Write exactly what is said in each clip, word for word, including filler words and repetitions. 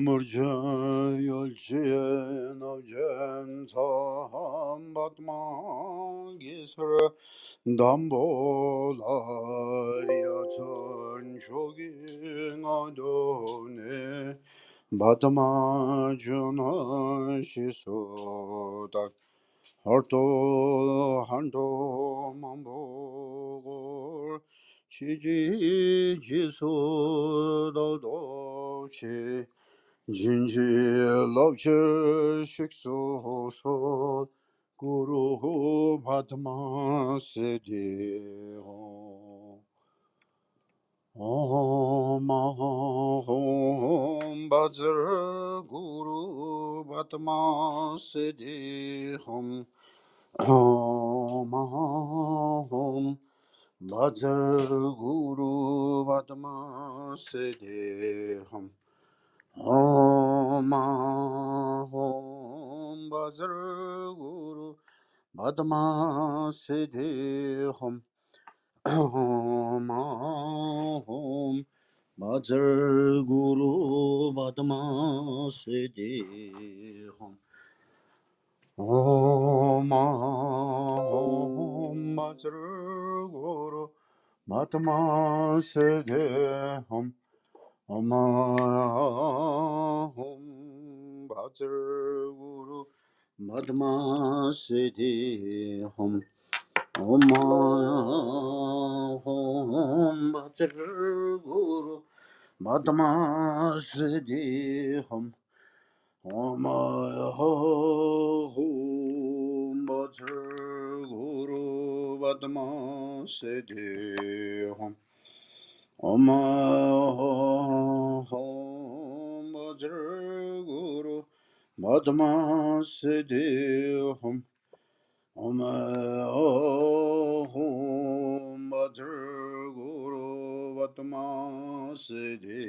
Murca yolcuya navcen saham batma gisr dambola yatan şogin adone batma cuna şisodak harto hando mambogor çici ciso dodoçi Jinji Lokye Shikso So Guru Padma Siddhi Om Om Bajra Guru Padma Siddhi Om Om Om Bajra Guru Padma Siddhi Om Om Om Bajra Guru Padma Siddhi Om Om Om Bajra Guru Padma Siddhi Om Om Om Bajra Guru Padma Siddhi Om Om Om Bajra Guru Padma Siddhi Om Om Om Bajra Guru Padma Siddhi Om Om Om Bajra Guru Padma Siddhi Om Om Om Bajra Guru Padma Siddhi Om Om Om Bajra Guru Padma Siddhi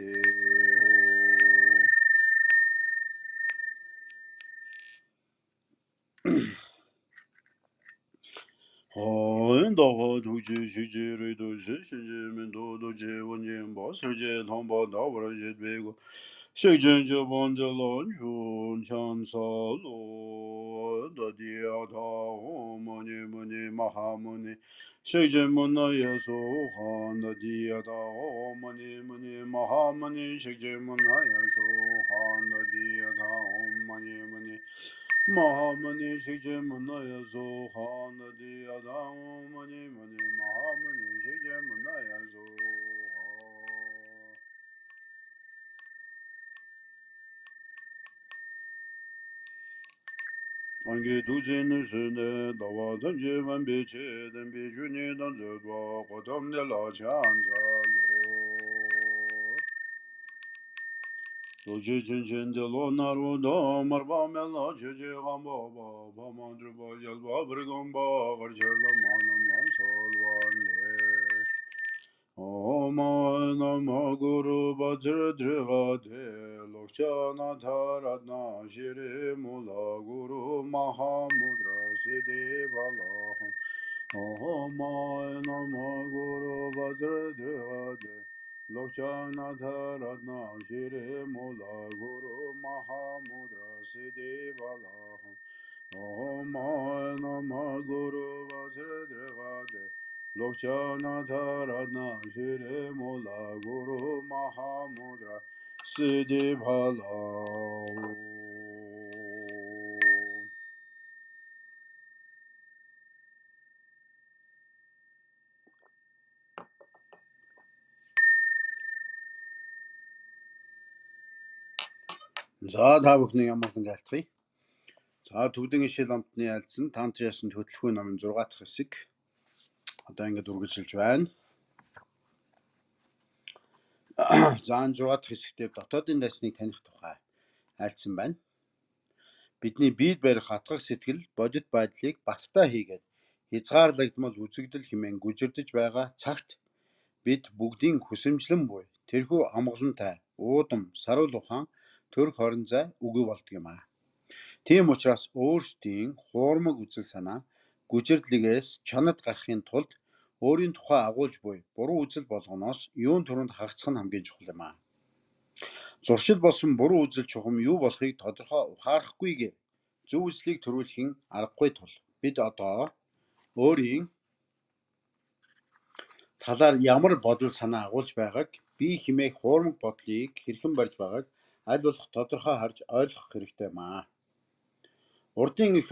Om Om Duji Shiji Rido Shishi Mendo Doji Wanjin Bosserje Tomba Dawarajet Bego Shijin Jabon Jalon Chun Chan Salo Dadiata Muni Muni Mahamuni Shijin Munaya Sohan Dadiata Muni Muni Mahamuni Shijin Munaya Sohan Dadiata Muni Muni Mahamani Shikje Munaya Zoha Nadi Adam Mani Mani Mahamani Shikje Munaya Zoha Ange Duji Nishine Dawa Danji Van Bichi Dan Bijuni Dan Zedwa Kodam De La Chanzalo Doji Chinchin De Lo Naru Da Marba Mela Chichi Gamba Ba Mandru Ba Yalba Brigamba Garjala Manam Lan Salvande Om Nama Guru Bajra Drivade Lokchana Dharatna Shri Mula Guru Mahamudra Siddhi Balaham Om Nama Guru Bajra Drivade Lokchana Dharatna Shri Mula Guru Mahamudra Siddhi Balaham Om Nama Guru Bajra Drivade Lokchana Dharatna Shri Mula Guru Mahamudra Siddhi Bhalao За та бүхний ямархан галтгая. За төвдгийн шил амтны айлцсан танч ясан хөтөлбөрийн номын зураг дахь хэсэг одоо ингэж үргэлжилж байна. За энэ зураг дахь хэсэгтээ дотоодын дайсныг таних тухай айлцсан байна. Бидний биед барих хатгах сэтгэл бодит байдлыг баттай хийгээд хязгаарлагдмал үзэгдэл хэмээн гүжирдэж байгаа цагт бид бүгдийн хүсэмжлэн буй тэрхүү амгалантай уудам саруул ухаан төрх хорон зай үгүй болдог юм аа. Тийм учраас өөрсдийн хуурмаг үзэл санаа гүжирдлигээс чанад гарахын тулд өөрийн тухай агуулж буй буруу үзэл болгоноос юун түрүүнд хагацх нь хамгийн чухал юм аа. Зуршил болсон буруу үзэл чухам юу болохыг тодорхой ухаарахгүйгээр зөв үзлийг төрүүлэхийн аргагүй тул бид одоо өөрийн талаар ямар бодол санаа агуулж байгааг, бие хэмээх хуурмаг бодлыг хэрхэн барьж байгааг аль болох тодорхой харж ойлгох хэрэгтэй маа. Урдын их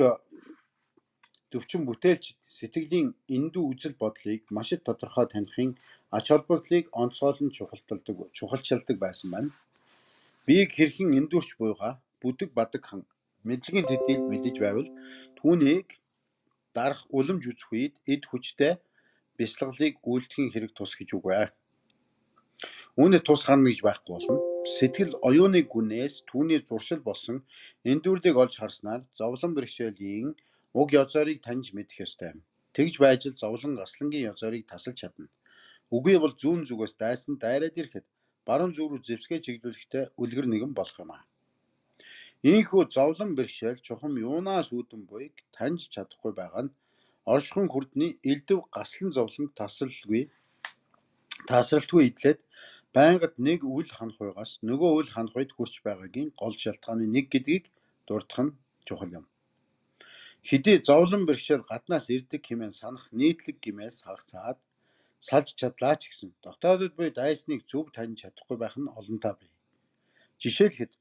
төвчин бүтээлч сэтгэлийн эндүү үзэл бодлыг маш их тодорхой таних ач холбогдлыг онцгойлон чухалчилдаг чухалчилдаг байсан байна. Биеийг хэрхэн эндүүрч буйгаа бүдэг бадаг хан мэдлэгийн төдийлд мэдэж байвал түүнийг дарах уламж үзэх үед эд хүчтэй бясалгалыг үйлдэхийн хэрэг тус гэж үгүй. Үүнээс тус харна гэж байхгүй болно. Сэтгэл оюуны гүнээс түүний зуршил болсон эндүүрлийг олж харснаар зовлон бэрхшээлийн уг язаарыг таньж мэдэх ёстой. Тэгж байж л зовлон гаслангийн язаарыг тасалж чадна. Үгүй бол зүүн зүгээс дайсан дайраад ирэхэд баруун зүг рүү зэвсгээ чиглүүлэхдээ үлгэр нэгэн болох юм аа. Ийхүү зовлон бэрхшээл чухам юунаас үүдэн буйг таньж чадахгүй байгаа нь оршихуйн хүрдний элдв гаслан зовлонд тасралтгүй тасралтгүй идлээд байнгад нэг үл ханахуйгаас нөгөө үл ханахуйд хүрч байгаагийн гол шалтгааны нэг гэдгийг дурдах нь чухал юм. Хэдий зовлон бэрхшээл гаднаас ирдэг хэмээн санах нийтлэг гэмээс хагацаад салж чадлаа ч гэсэн дотоодод буй дайсныг зөв таньж чадахгүй байх нь олонтаа бий. Жишээлхэд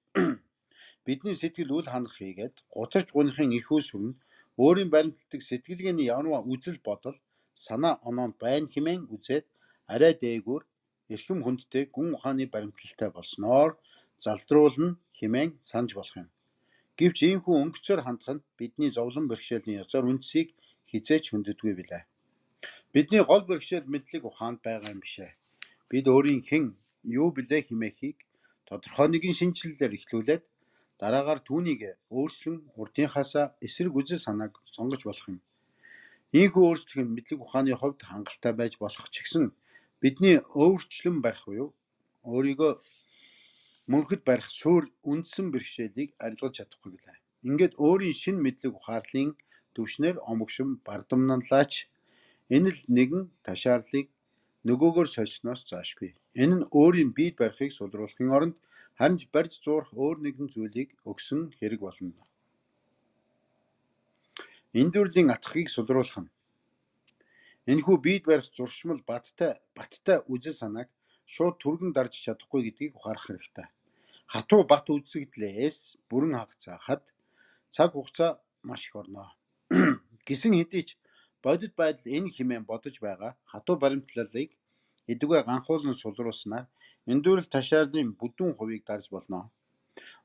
бидний сэтгэл үл ханах хийгээд гутарч гунихын их үүсвэр нь өөрийн баримтлагдаг сэтгэлгээний ямарваа үзэл бодол санаа оноонд байна хэмээн үзээд арай дээгүүр эрхэм хүндтэй гүн ухааны баримтлагтай болсноор залдруулна хэмээн санаж болох юм. Гэвч ийхүү өнгөцөөр хандах нь бидний зовлон бэрхшээлийн язаар үндсийг хизээч хүнддэггүй билээ. Бидний гол бэрхшээл мэдлэг ухаанд байгаа юм бишээ. Бид өөрийн хэн юу билээ хэмээхийг тодорхой нэгэн шинжилэлээр эхлүүлээд дараагаар түүнийг өөрчлөн урдынхаасаа эсрэг үзэл санааг сонгож болох юм. Ийхүү өөрчлөлт нь мэдлэг ухааны хувьд хангалттай байж болох ч гэсэн бидний өөрчлөн барих буюу өөрийгөө мөнхөд барих суур үндсэн бэрхшээлийг арилгаж чадахгүй билээ. Ингээд өөрийн шинэ мэдлэг ухаарлын төвшнөр омогшин бардамналаач энэ л нэгэн ташаарлыг нөгөөгөр сольсноос заашгүй. Энэ нь өөрийн биед барихыг сулруулахын оронд харин ч барьж зуурах өөр нэгэн зүйлийг өгсөн хэрэг болно. Эндүрлийн атгахыг сулруулах нь энэхүү биед барих зуршмал баттай баттай үзэл санааг шууд түргэн дарж чадахгүй гэдгийг ухаарах хэрэгтэй. Хатуу бат үзэгдлээс бүрэн хагацаахад цаг хугацаа маш их орно. Гисэн хэдий ч бодит байдал энэ хэмээн бодож байгаа хатуу баримтлалыг эдүгэ ганхуулан сулруулснаар эндүрэл ташаарлын бүдүүн хувийг дарж болно.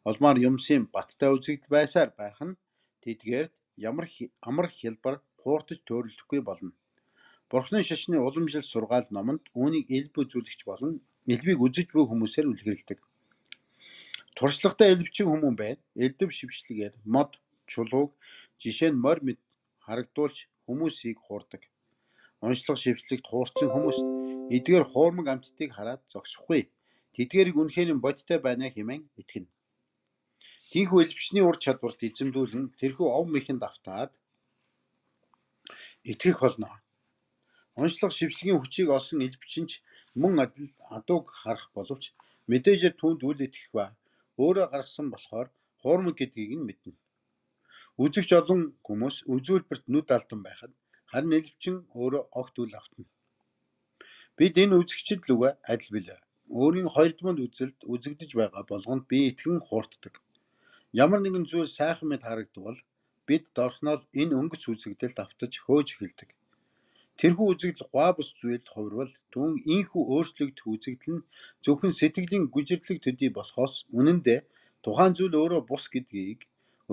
Олмаар юмсын баттай үзэгдэл байсаар байх нь тэдгээрт ямар амар хялбар хууртаж төөрөлдөхгүй болно. Бурхны шашны уламжлал сургаал номонд үүнийг элб үзүүлэгч болон элбийг үзэж буй хүмүүсээр үлгэрэлдэг. Туршлагатай элбчин хүмүүн байна. Элдв шившлэгээр мод чулууг жишээ нь морь мэд харагдуулж хүмүүсийг хуурдаг. Онцлог шившлэгт хуурсан хүмүүс эдгээр хуурмаг амьтдыг хараад зогсохгүй. Тэдгээрийг үнэхээр бодиттой байна хэмээн итгэнэ. Тийхүү элбчний ур чадварт эзэмдүүлэн тэрхүү ов мэхэнд автаад итгэх болно. Онцлог шившлэгийн хүчийг олсон элбчин ч мөн адил адууг харах боловч мэдээжээр түүнд үл итгэх ба өөрөө гаргасан болохоор хуурмаг гэдгийг нь мэднэ. Үзэгч олон хүмүүс үзүүлбэрт нүд алдан байхад харин элбчин өөрөө огт үл автна. Бид энэ үзэгчд лүгэ адил билээ. Өөрийн хоёрдмол үзэлд үзэгдэж байгаа болгонд би итгэн хуурддаг. Ямар нэгэн зүйл сайхан мэд харагдвал бид дорхноор энэ өнгөц үзэгдэлд автаж хөөж эхэлдэг. Тэрхүү үзэгдэл гуай бус зүйлд хувирвал түүн ийхүү өөрчлөгдөх үзэгдэл нь зөвхөн сэтгэлийн гүжирлэг төдий болохоос үнэн дээр тухайн зүйл өөрөө бус гэдгийг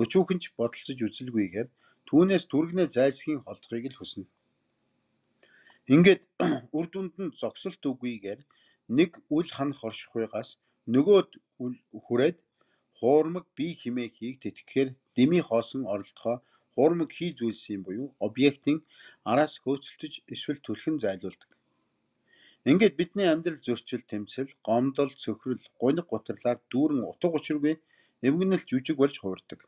өчүүхэн ч бодолцож үзэлгүйгээр түүнээс түргэнэ зайлсхийн холдохыг л хүснэ. Ингээд үр дүнд нь зогсолт үгүйгээр нэг үл ханах оршихуйгаас нөгөөд хүрээд хуурмаг бие хэмээхийг тэтгэхээр дэмий хоосон оролдохоо хуурмаг хий зүйлсийн буюу объектын араас хөөцөлдөж эсвэл түлхэн зайлуулдаг. Ингээд бидний амьдрал зөрчил, тэмцэл, гомдол, цөхрөл, гуниг гутарлаар дүүрэн утга учиргүй эвгэнэл жүжиг болж хувирдаг.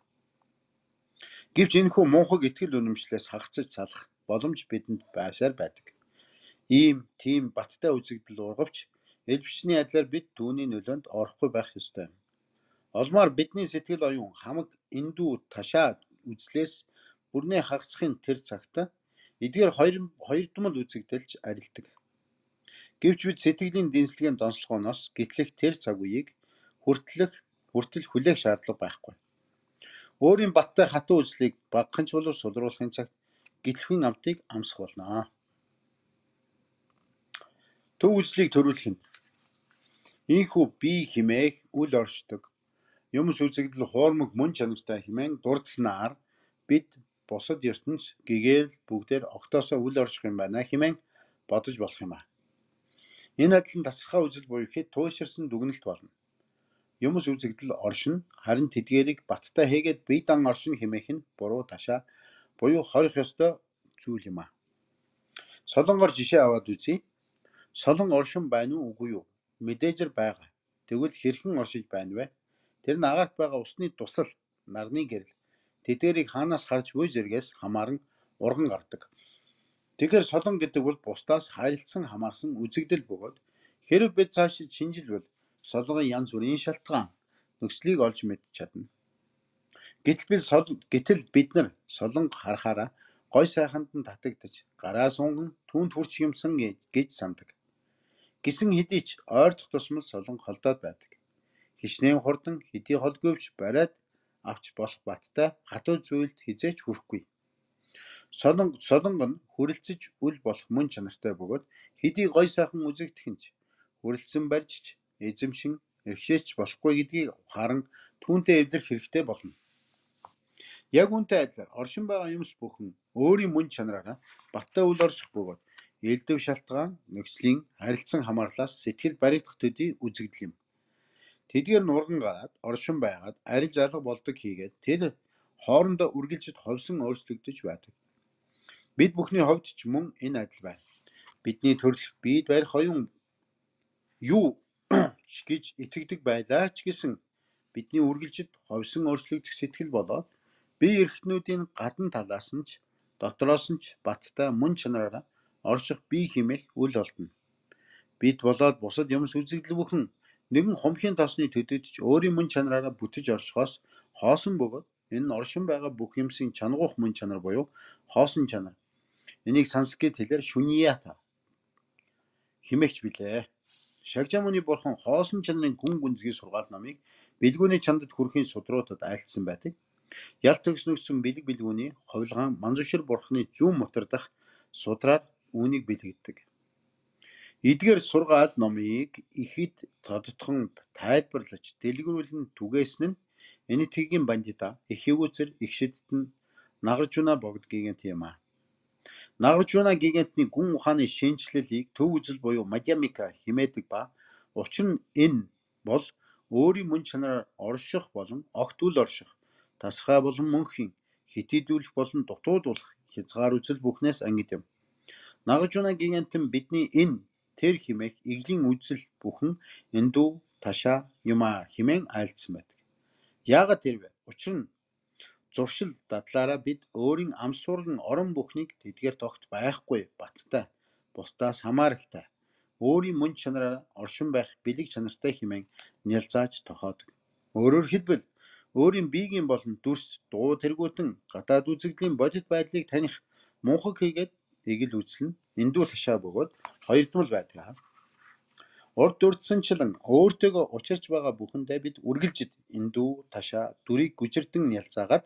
Гэвч энэхүү муухайг итгэл үнэмшлээс хагацж салах боломж бидэнд байсаар байдаг. Ийм тийм баттай үзэгдэл ургавч Элбчний адилаар бид түүний нөлөөнд орохгүй байх ёстой. Олмоор бидний сэтгэл оюун хамаг эндүү ташаа үзлээс бүрнээ хагасхын тэр цагт эдгээр хоёр хоёрдмол үзэгдэлж арилдаг. Гэвч бид сэтгэлийн дэнслэгийн донслогоноос гитлэх тэр цаг үеийг хүртэлх хүртэл хүлээх шаардлага байхгүй. Өөрийн баттай хатуу үзлийг багахынч болов сулруулахын цагт гитлэхүйн амтыг амсах болно. Төв үзлийг төрүүлэх нь ийхүү бие химээх үл оршдог юмс үзэгдэл хоормог мөн чанартай хэмээн дурдсанаар бид бусад ертөнц гэгээл бүгдээр огтоосоо үл орших юм байна хэмээн бодож болох юм а. Энэ адилхан тасархай үзэл буюу хэд тууширсан дүгнэлт болно. Юмс үзэгдэл оршин харин тэдгээрийг баттай хийгээд бие дан оршин хэмээх нь буруу ташаа буюу хорих ёстой зүйл юм а. Солонгоор жишээ аваад үзье. Солон оршин байна уу үгүй юу? Мэдээжэр байгаа. Тэгвэл хэрхэн оршиж байна вэ? Тэр нь агаарт байгаа усны тусал, нарны гэрэл. Тэдгээрийг хаанаас харж буй зэргээс хамааран урган гардаг. Тэгэхээр солон гэдэг бол бусдаас харилцсан хамаарсан үзэгдэл бөгөөд хэрэв бид цаашид шинжилвэл солонгын янз бүрийн шалтгаан нөхцөлийг олж мэдж чадна. Гэтэл бид сол гэтэл бид нар солонго харахаараа гой сайханд нь татагдаж гараа сунган түүнд хүрч юмсан гэж сандаг. Гисэн хэдий ч ойрдох тусмал солонго холдоод байдаг. Хичнээн хурдан хэдий холдгүйвч бариад авч болох баттай хатуу зүйлд хизээч хүрэхгүй. Солонго солонго нь хүрэлцэж үл болох мөн чанартай бөгөөд хэдий гой сайхан үзэгдэх нь хүрэлцэн барьж эзэмшин эрхшээч болохгүй гэдгийг харан түүнтэй эвдэрх хэрэгтэй болно. Яг үүнтэй адилаар оршин байгаа юмс бүхэн өөрийн мөн чанараараа баттай үл орших бөгөөд элдв шалтгаан нөхцөлийн харилцан хамаарлаас сэтгэл баригдах төдий үзэгдэл юм. Тэдгээр нурган гараад оршин байгаад арил алга болдог хийгээд тэр хоорондоо үргэлжид ховсон өөрчлөгдөж байдаг. Бид бүхний хувьд ч мөн энэ адил байна. Бидний төрөлх биед барих оюун юу ч гэж итгэдэг байлаа ч гэсэн бидний үргэлжид ховсон өөрчлөгдөх сэтгэл болоод бие эрхтнүүдийн гадна талаас нь ч дотроос нь ч баттай мөн чанараараа орших бие химээх үл олдно. Бид болоод бусад юмс үзэгдэл бүхэн нэгэн хумхийн тоосны төдөд ч өөрийн мөн чанараараа бүтэж оршихоос хоосон бөгөөд энэ нь оршин байгаа бүх юмсын чангуух мөн чанар буюу хоосон чанар. Энийг санскрит хэлээр шуньята химэгч билээ. Шагжамуны бурхан хоосон чанарын гүн гүнзгий сургаал номыг бэлгүүний чандад хүрэхийн судруудад айлтсан байдаг. Ялт төгснөгсөн бэлэг бэлгүүний ховлгаан манзушир бурханы зүүн мотор дах судраар үүнийг бэлэгддэг. Эдгээр сургаал номыг ихэд тодтхон тайлбарлаж дэлгэрүүлэн түгээсэн нь энэтхэгийн бандита эхэгүүцэр ихшидтэн Нагаржуна богд гигant юм а. Нагаржуна гигантны гүн ухааны шинжлэлийг төв үзэл буюу Мадьямика химээдэг ба учир нь энэ бол өөрийн мөн чанараар орших болон огт үл орших, тасархай болон мөнхийн, хитийдүүлэх болон дутуудуулах хязгаар үзэл бүхнээс ангид юм. Нагаржуна гигант нь бидний энэ тэр химээх иглийн үзэл бүхэн эндүү ташаа юма химэн айлдсан байдаг. Яагаад тэр вэ? Учир нь зуршил дадлаараа бид өөрийн амсуурган орон бүхнийг тэдгээр тогт байхгүй баттай, бусдаас хамааралтай, өөрийн мөн чанараар оршин байх бэлэг чанартай химэн нялзааж тохоодог. Өөрөөр хэлбэл өөрийн биеийн болон дүрс, дуу тэргүүтэн гадаад үзэгдлийн бодит байдлыг таних мунхаг хийгээд игэл үзэл нь эндүү ташаа бөгөөд хоёрдмол байдаг. Урд дурдсанчлан өөртөөгөө учирч байгаа бүхэндээ бид үргэлжид эндүү ташаа дүрийг гүжирдэн нялзаагаад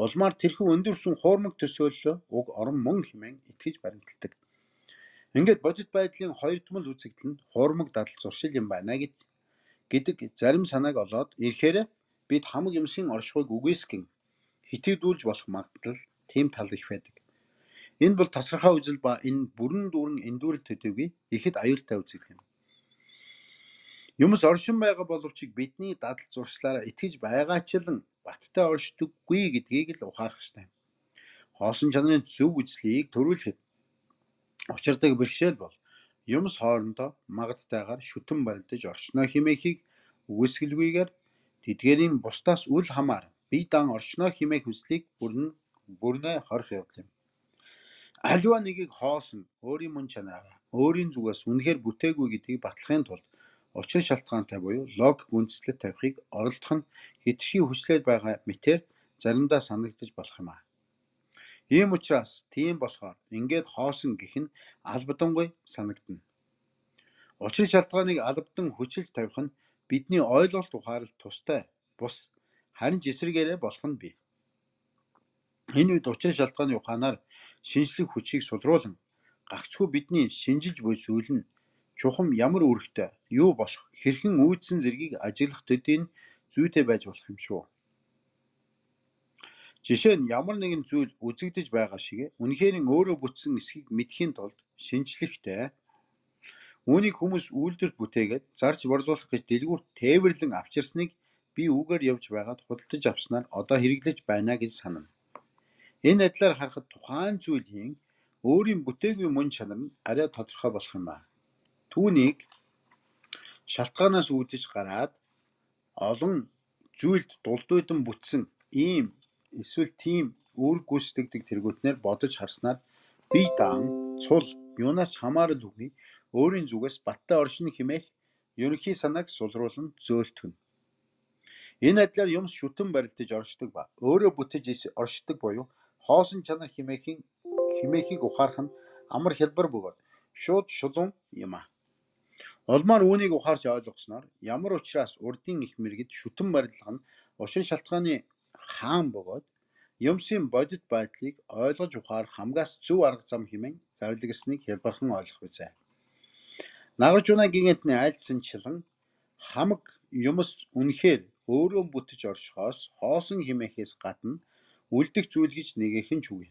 улмаар тэрхүү өндөрсөн хуурмаг төсөөллөө уг орон мөн хэмээн итгэж баримталдаг. Ингээд бодит байдлын хоёрдмол үзэгдэл нь хуурмаг дадал зуршил юм байна гэд гэдэг зарим санааг олоод ирэхээр бид хамаг юмсын оршихуйг үгүйсгэн хитэгдүүлж болох магадлал тийм тал их байдаг. Энэ бол тасархай үзэл ба энэ бүрэн дүүрэн эндүүрэл төдийгүй ихэд аюултай үзэгдэл юм. Юмс оршин байгаа боловч бидний дадал зуршлаараа итгэж байгаачлан баттай оршдоггүй гэдгийг л ухаарах ёстой. Хоосон чанарын зөв үзлийг төрүүлэхэд учирдаг бэрхшээл бол юмс хоорондоо магадтайгаар шүтэн барилдаж оршно хэмээхийг үгүйсгэлгүйгээр тэдгээрийн бусдаас үл хамаар бие дан оршно хэмээх үзлийг бүрэн бүрнээ хорих явдал юм. Аливаа нэгийг хоосон өөрийн мөн чанараараа өөрийн зүгээс үнэхээр бүтээгүй гэдгийг батлахын тулд учир шалтгаантай буюу логик үндэслэл тавихыг оролдох нь хэтэрхий хүчлээд байгаа мэтээр заримдаа санагдаж болох юм аа. Ийм учраас тийм болохоор ингээд хоосон гэх нь албадангуй санагдана. Учир шалтгааныг албадан хүчилж тавих нь бидний ойлголт ухааралт тустай бус харин ч эсрэгээрээ болох нь бий. Энэ үед учир шалтгааны ухаанаар шинжлэх хүчийг сулруулан гагцхүү бидний шинжилж буй зүйл нь чухам ямар үүрэгтэй юу болох хэрхэн үүдсэн зэргийг ажиглах төдийн зүйтэй байж болох юм шүү. Жишээ нь ямар нэгэн зүйл үзэгдэж байгаа шиг үнэхээр өөрөө бүтсэн эсхийг мэдхийн тулд шинжлэхтэй үүнийг хүмүүс үйлдвэрт бүтээгээд зарж борлуулах гэж дэлгүүрт тээвэрлэн авчирсныг би үгээр явж байгаад худалдаж авснаар одоо хэрэглэж байна гэж санана. Энэ адилаар харахад тухайн зүйлийн өөрийн бүтээгүй мөн чанар нь арай тодорхой болох юм аа. Түүнийг шалтгаанаас үүдэж гараад олон зүйлд дулдуудан бүтсэн ийм эсвэл тийм үүрэг гүйцэтгэдэг тэргүүтнээр бодож харснаар бие даан цул юунаас хамаарал үгүй өөрийн зүгээс баттай оршин хэмээх ерөнхий санааг сулруулан зөөлтгөн. Энэ адилаар юмс шүтэн барилдаж оршдог ба өөрөө бүтэж оршдог буюу хоосон чанар хэмээхийн хэмээхийг ухаарах нь амар хялбар бөгөөд шууд шулуун юм аа. Улмаар үүнийг ухаарч ойлгосноор ямар учраас урдын их мэргэд шүтэн барилгах нь учир шалтгааны хаан бөгөөд юмсын бодит байдлыг ойлгож ухаарах хамгаас зөв арга зам хэмээн зарлагсныг хялбархан ойлгох үзье. Нагаж унаа гинэтний айлдсанчлан хамаг юмс үнэхээр өөрөө бүтэж оршихоос хоосон хэмээхээс гадна үлдэх зүйл гэж нэгээх нь ч үгүй.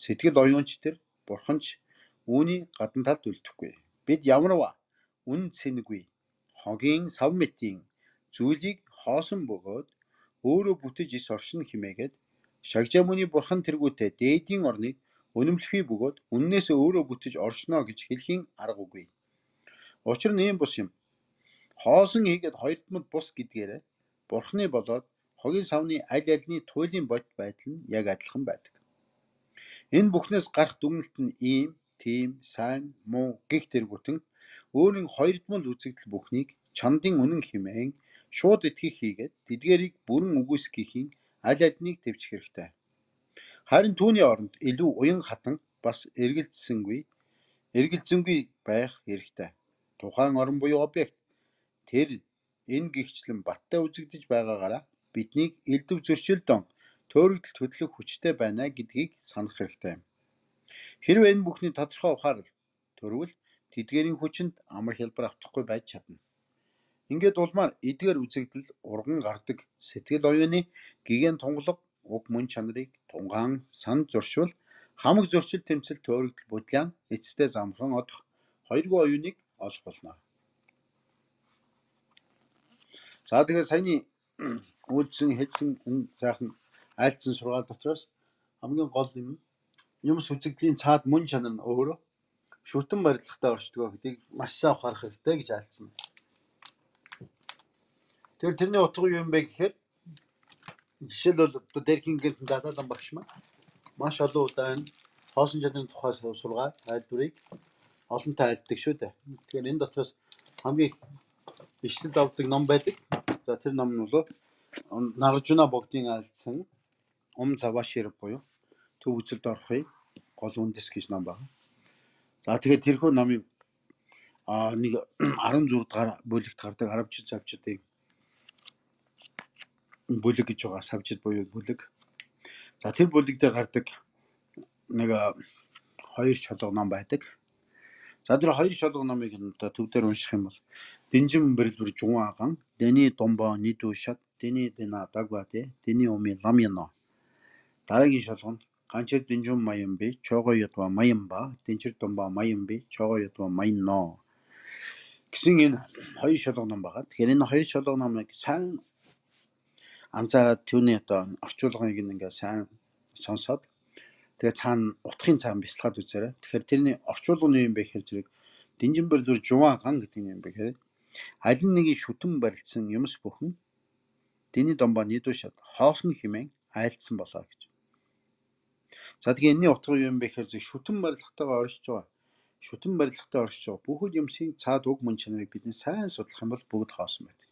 Сэтгэл оюунч төр бурханч үүний гадна талд үлдэхгүй. Бид ямарваа үн цэнэгүй хогийн сав мэтийн зүйлийг хоосон бөгөөд өөрөө бүтэж ис оршин хэмээгээд шагжаа мөний бурхан тэргүүтээ дээдийн орныг үнэмлэхий бөгөөд үннээс өөрөө бүтэж оршно гэж хэлхийн арга үгүй. Учир нь ийм бус юм. Хоосон хийгээд хоёрдмод бус гэдгээрээ бурхны болоод хогийн савны аль альны туйлын бодит байдал нь яг адилхан байдаг. Энэ бүхнээс гарах дүгнэлт нь ийм, тийм, сайн, муу гих тэргүүтэн өөрийн хоёрдмол үзэгдэл бүхнийг чандын үнэн хэмээн шууд итгэх хийгээд тэдгээрийг бүрэн үгүйсгэхийн аль альныг төвчих хэрэгтэй. Харин түүний оронд илүү уян хатан бас эргэлзсэнгүй эргэлзэнгүй байх хэрэгтэй. Тухайн орон буюу объект тэр энэ гихчлэн баттай үзэгдэж байгаагаараа биднийг элдв зөрчилдөн төөрөгдөлт хөдлөх хүчтэй байна гэдгийг санах хэрэгтэй. Хэрвээ энэ бүхний тодорхой ухаарал төрвөл тэдгээрийн хүчинд амар хялбар автахгүй байж чадна. Ингээд улмаар эдгээр үзэгдэл урган гардаг сэтгэл оюуны гигэн тунгалаг уг мөн чанарыг тунгаан санд зуршвал хамаг зөрчил тэмцэл төөрөгдөл бодлоо эцэстээ замхан одох хоёргүй оюуныг олох болно. За тэгэхээр саяны үйлдсэн хэлсэн энэ сайхан айлдсан сургаал дотроос хамгийн гол юм юмс үзэгдлийн цаад мөн чанар нь өөрөө шүтэн барилгатай оршдог гэдгийг маш сайн ухаарах хэрэгтэй гэж айлдсан. Тэр тэрний утга юу юм бэ гэхээр жишээлбэл одоо Дэркин гэнтэн дадаалан багш маань маш олон удаа энэ хоосон чанарын тухай сургаад айлдварыг олонтой айлддаг шүү дээ. Тэгэхээр энэ дотроос хамгийн ишлэл авдаг ном байдаг. За тэр ном нь бол Наржуна богдын айлдсан Ом Завашир буюу төв үзэлд орохын гол үндэс гэж ном байна. За тэгээд тэрхүү номыг а нэг арван зураг дахь бүлэгт гардаг арабчид завчдын бүлэг гэж байгаа савчид буюу бүлэг. За тэр бүлэг дээр гардаг нэг хоёр шолго ном байдаг. За тэр хоёр шолго номыг одоо төв дээр унших юм бол Дэнжин бэрэлбэр жунган Дэни домбо нидушат Дэни дэна дагвате Дэни оми ламяно. Дараагийн шолго нь ганчэр дэнжин маямби чого ятва маямба дэнчэр домбо маямби чого ятва майно гэсэн энэ хоёр шолго ном байгаа. Тэгэхээр энэ хоёр шолго номыг сайн анзаараад түүний одоо орчуулгыг ингээ сайн сонсоод тэгээ цаана утгын цаана бясалгаад үзээрэй. Тэгэхээр тэрний орчуулга нь юм бэ гэхээр зэрэг Дэнжин бэрэлбэр жунган гэдэг юм бэ гэхээр аль нэгний шүтэн барилдсан юмс бүхэн Дэни домбо нидушат хоосон хэмээн айлдсан болоо гэж. За тэгээ энэний утга юу юм бэ гэхээр шүтэн барилгатайгаа оршиж байгаа шүтэн барилгатай оршиж байгаа бүхэл юмсийн цаад уг мөн чанарыг бидний сайн судлах юм бол бүгд хоосон байдаг.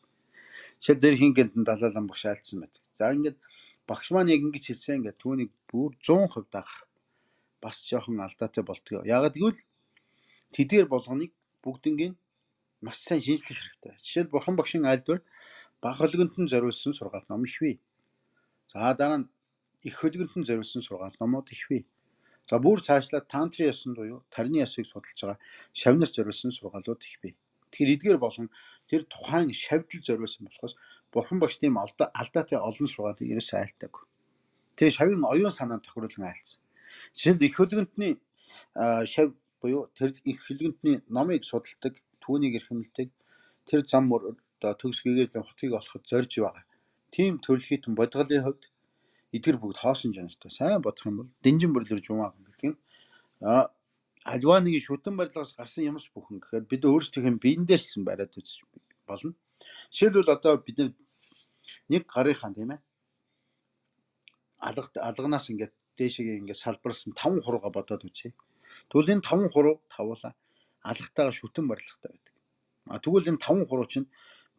Жишээл дээр хин гэлэн далаалан багш айлцсан байдаг. За ингээд багш маань яг ингэж хэлсэн ингээд түүнийг бүр зуун хувь дагах бас жоохон алдаатай болтгоо. Яагаад гэвэл тэдгээр болгоныг бүгднийг маш сайн шинжлэх хэрэгтэй. Жишээл бурхан багшийн айлдвар бага хөлгөнтөн зориулсан сургаал ном их бий. За дараа нь их хөлгөнтөн зориулсан сургаал номууд их бий. За бүр цаашлаад тантрын ёсонд буюу тарины ёсыг судалж байгаа шавнар зориулсан сургаалууд их бий. Тэгэхээр эдгээр болгон тэр тухайн шавьдал зориулсан болохоос бурхан багш тийм алдаа алдаатай олон сургаалыг ерөөсөө айлтаагүй. Тэр шавийн оюун санаанд тохируулан айлцсан. Жишээлбэл их хөлгөнтний шав буюу тэр их хөлгөнтний номыг судалдаг, түүнийг эрхэмлдэг, тэр зам мөр одоо төгс гэгэрлийн хотыг олоход зорж байгаа. Тийм төрөлхитэн бодгалын хувьд эдгээр бүгд хоосон жанртай. Сайн бодох юм бол дэнжин бүрлэр жумаа гэдэг юм. А альва нэг шүтэн барилгаас гарсан юмс бүхэн гэхээр бид өөрсдийнхээ биендээс л бариад үзэж болно. Жишээлбэл одоо бид нэг гарынхаа тийм ээ алга алганаас ингээд дээшээ ингээд салбарсан таван хурууга бодоод үзье. Тэгвэл энэ таван хуруу тавуулаа алгатайгаа шүтэн барилгатай байдаг. А тэгвэл энэ таван хуруу чинь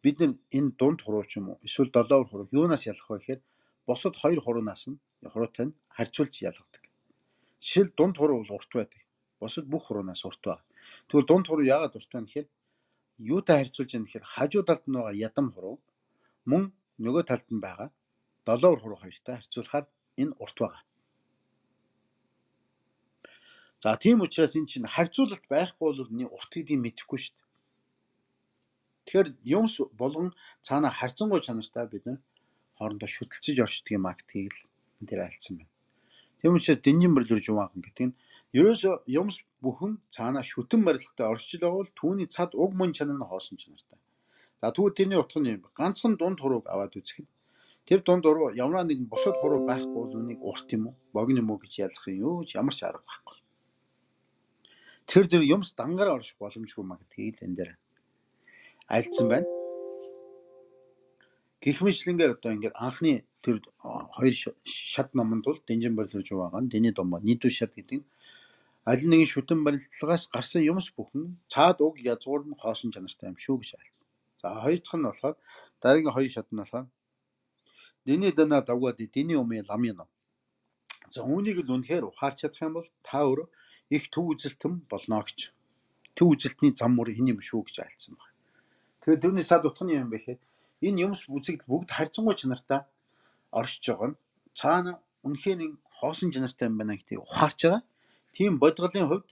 бид нар энэ дунд хуруу ч юм уу эсвэл долоовор хуруу юунаас ялах вэ гэхээр босод хоёр хуруунаас нь хуруутай нь харьцуулж ялгадаг. Жишээл дунд хуруу бол урт байдаг. Босод бүх хуруунаас урт байна. Тэгвэл дунд хуруу яагаад урт байна гэхээр юутай харьцуулж яах гэхээр хажуу талд нь байгаа ядам хуруу мөн нөгөө талд нь байгаа долоовор хуруу хоёртой харьцуулахаар энэ урт байгаа. За тийм учраас энэ чинь харьцуулалт байхгүй бол энэ урт гэдгийг мэдэхгүй шүү дээ. Тэгэхээр юмс болгон цаана харьцангуй чанартай бид нар хоорондоо шүтэлцэж оршдог юм а гэдгийг л энэ дээр альцсан байна. Тийм учраас дэнжин бүрлэр жумаахан гэдэг нь ерөөсөө юмс бүхэн цаана шүтэн барилгатай оршиж байгаа бол түүний цад уг мөн чанар нь хоосон чанартай. За тэгвэл тэрний утга нь юм. Ганцхан дунд хурууг аваад үзэхэд тэр дунд хуруу ямар нэгэн бусад хуруу байхгүй бол үнийг урт юм уу, богино юм уу гэж ялах юм юу ч ямар ч арга байхгүй. Тэр зэрэг юмс дангаар орших боломжгүй маа гэдгийг л энэ дээр альцсан байна. Гэх мэтлэнгээр одоо ингээд анхны тэр хоёр шат номонд бол дэнжин бүрлэр жумаахан дэний домоо нийтүү шат гэдэг нь аль нэгэн шүтэн барилгаас гарсан юмс бүхэн цаад уг язгуур нь хоосон чанартай юм шүү гэж альцсан. За хоёр дахь нь болохоор дараагийн хоёр шат нь болохоор дэний дана давгаад дэний умын ламын ном. За үүнийг л үнэхээр ухаарч чадах юм бол та өөрөө их төв үзэлтэн болно гэж. Төв үзэлтний зам мөр энэ юм шүү гэж альцсан байна. Тэгэхээр түүний сад утга нь юм бэ гэхээр энэ юмс үзэгдэл бүгд харьцангуй чанартай оршиж байгаа нь цаана үнэхээр нэг хоосон чанартай юм байна гэдгийг ухаарч байгаа. Тийм бодгалын хувьд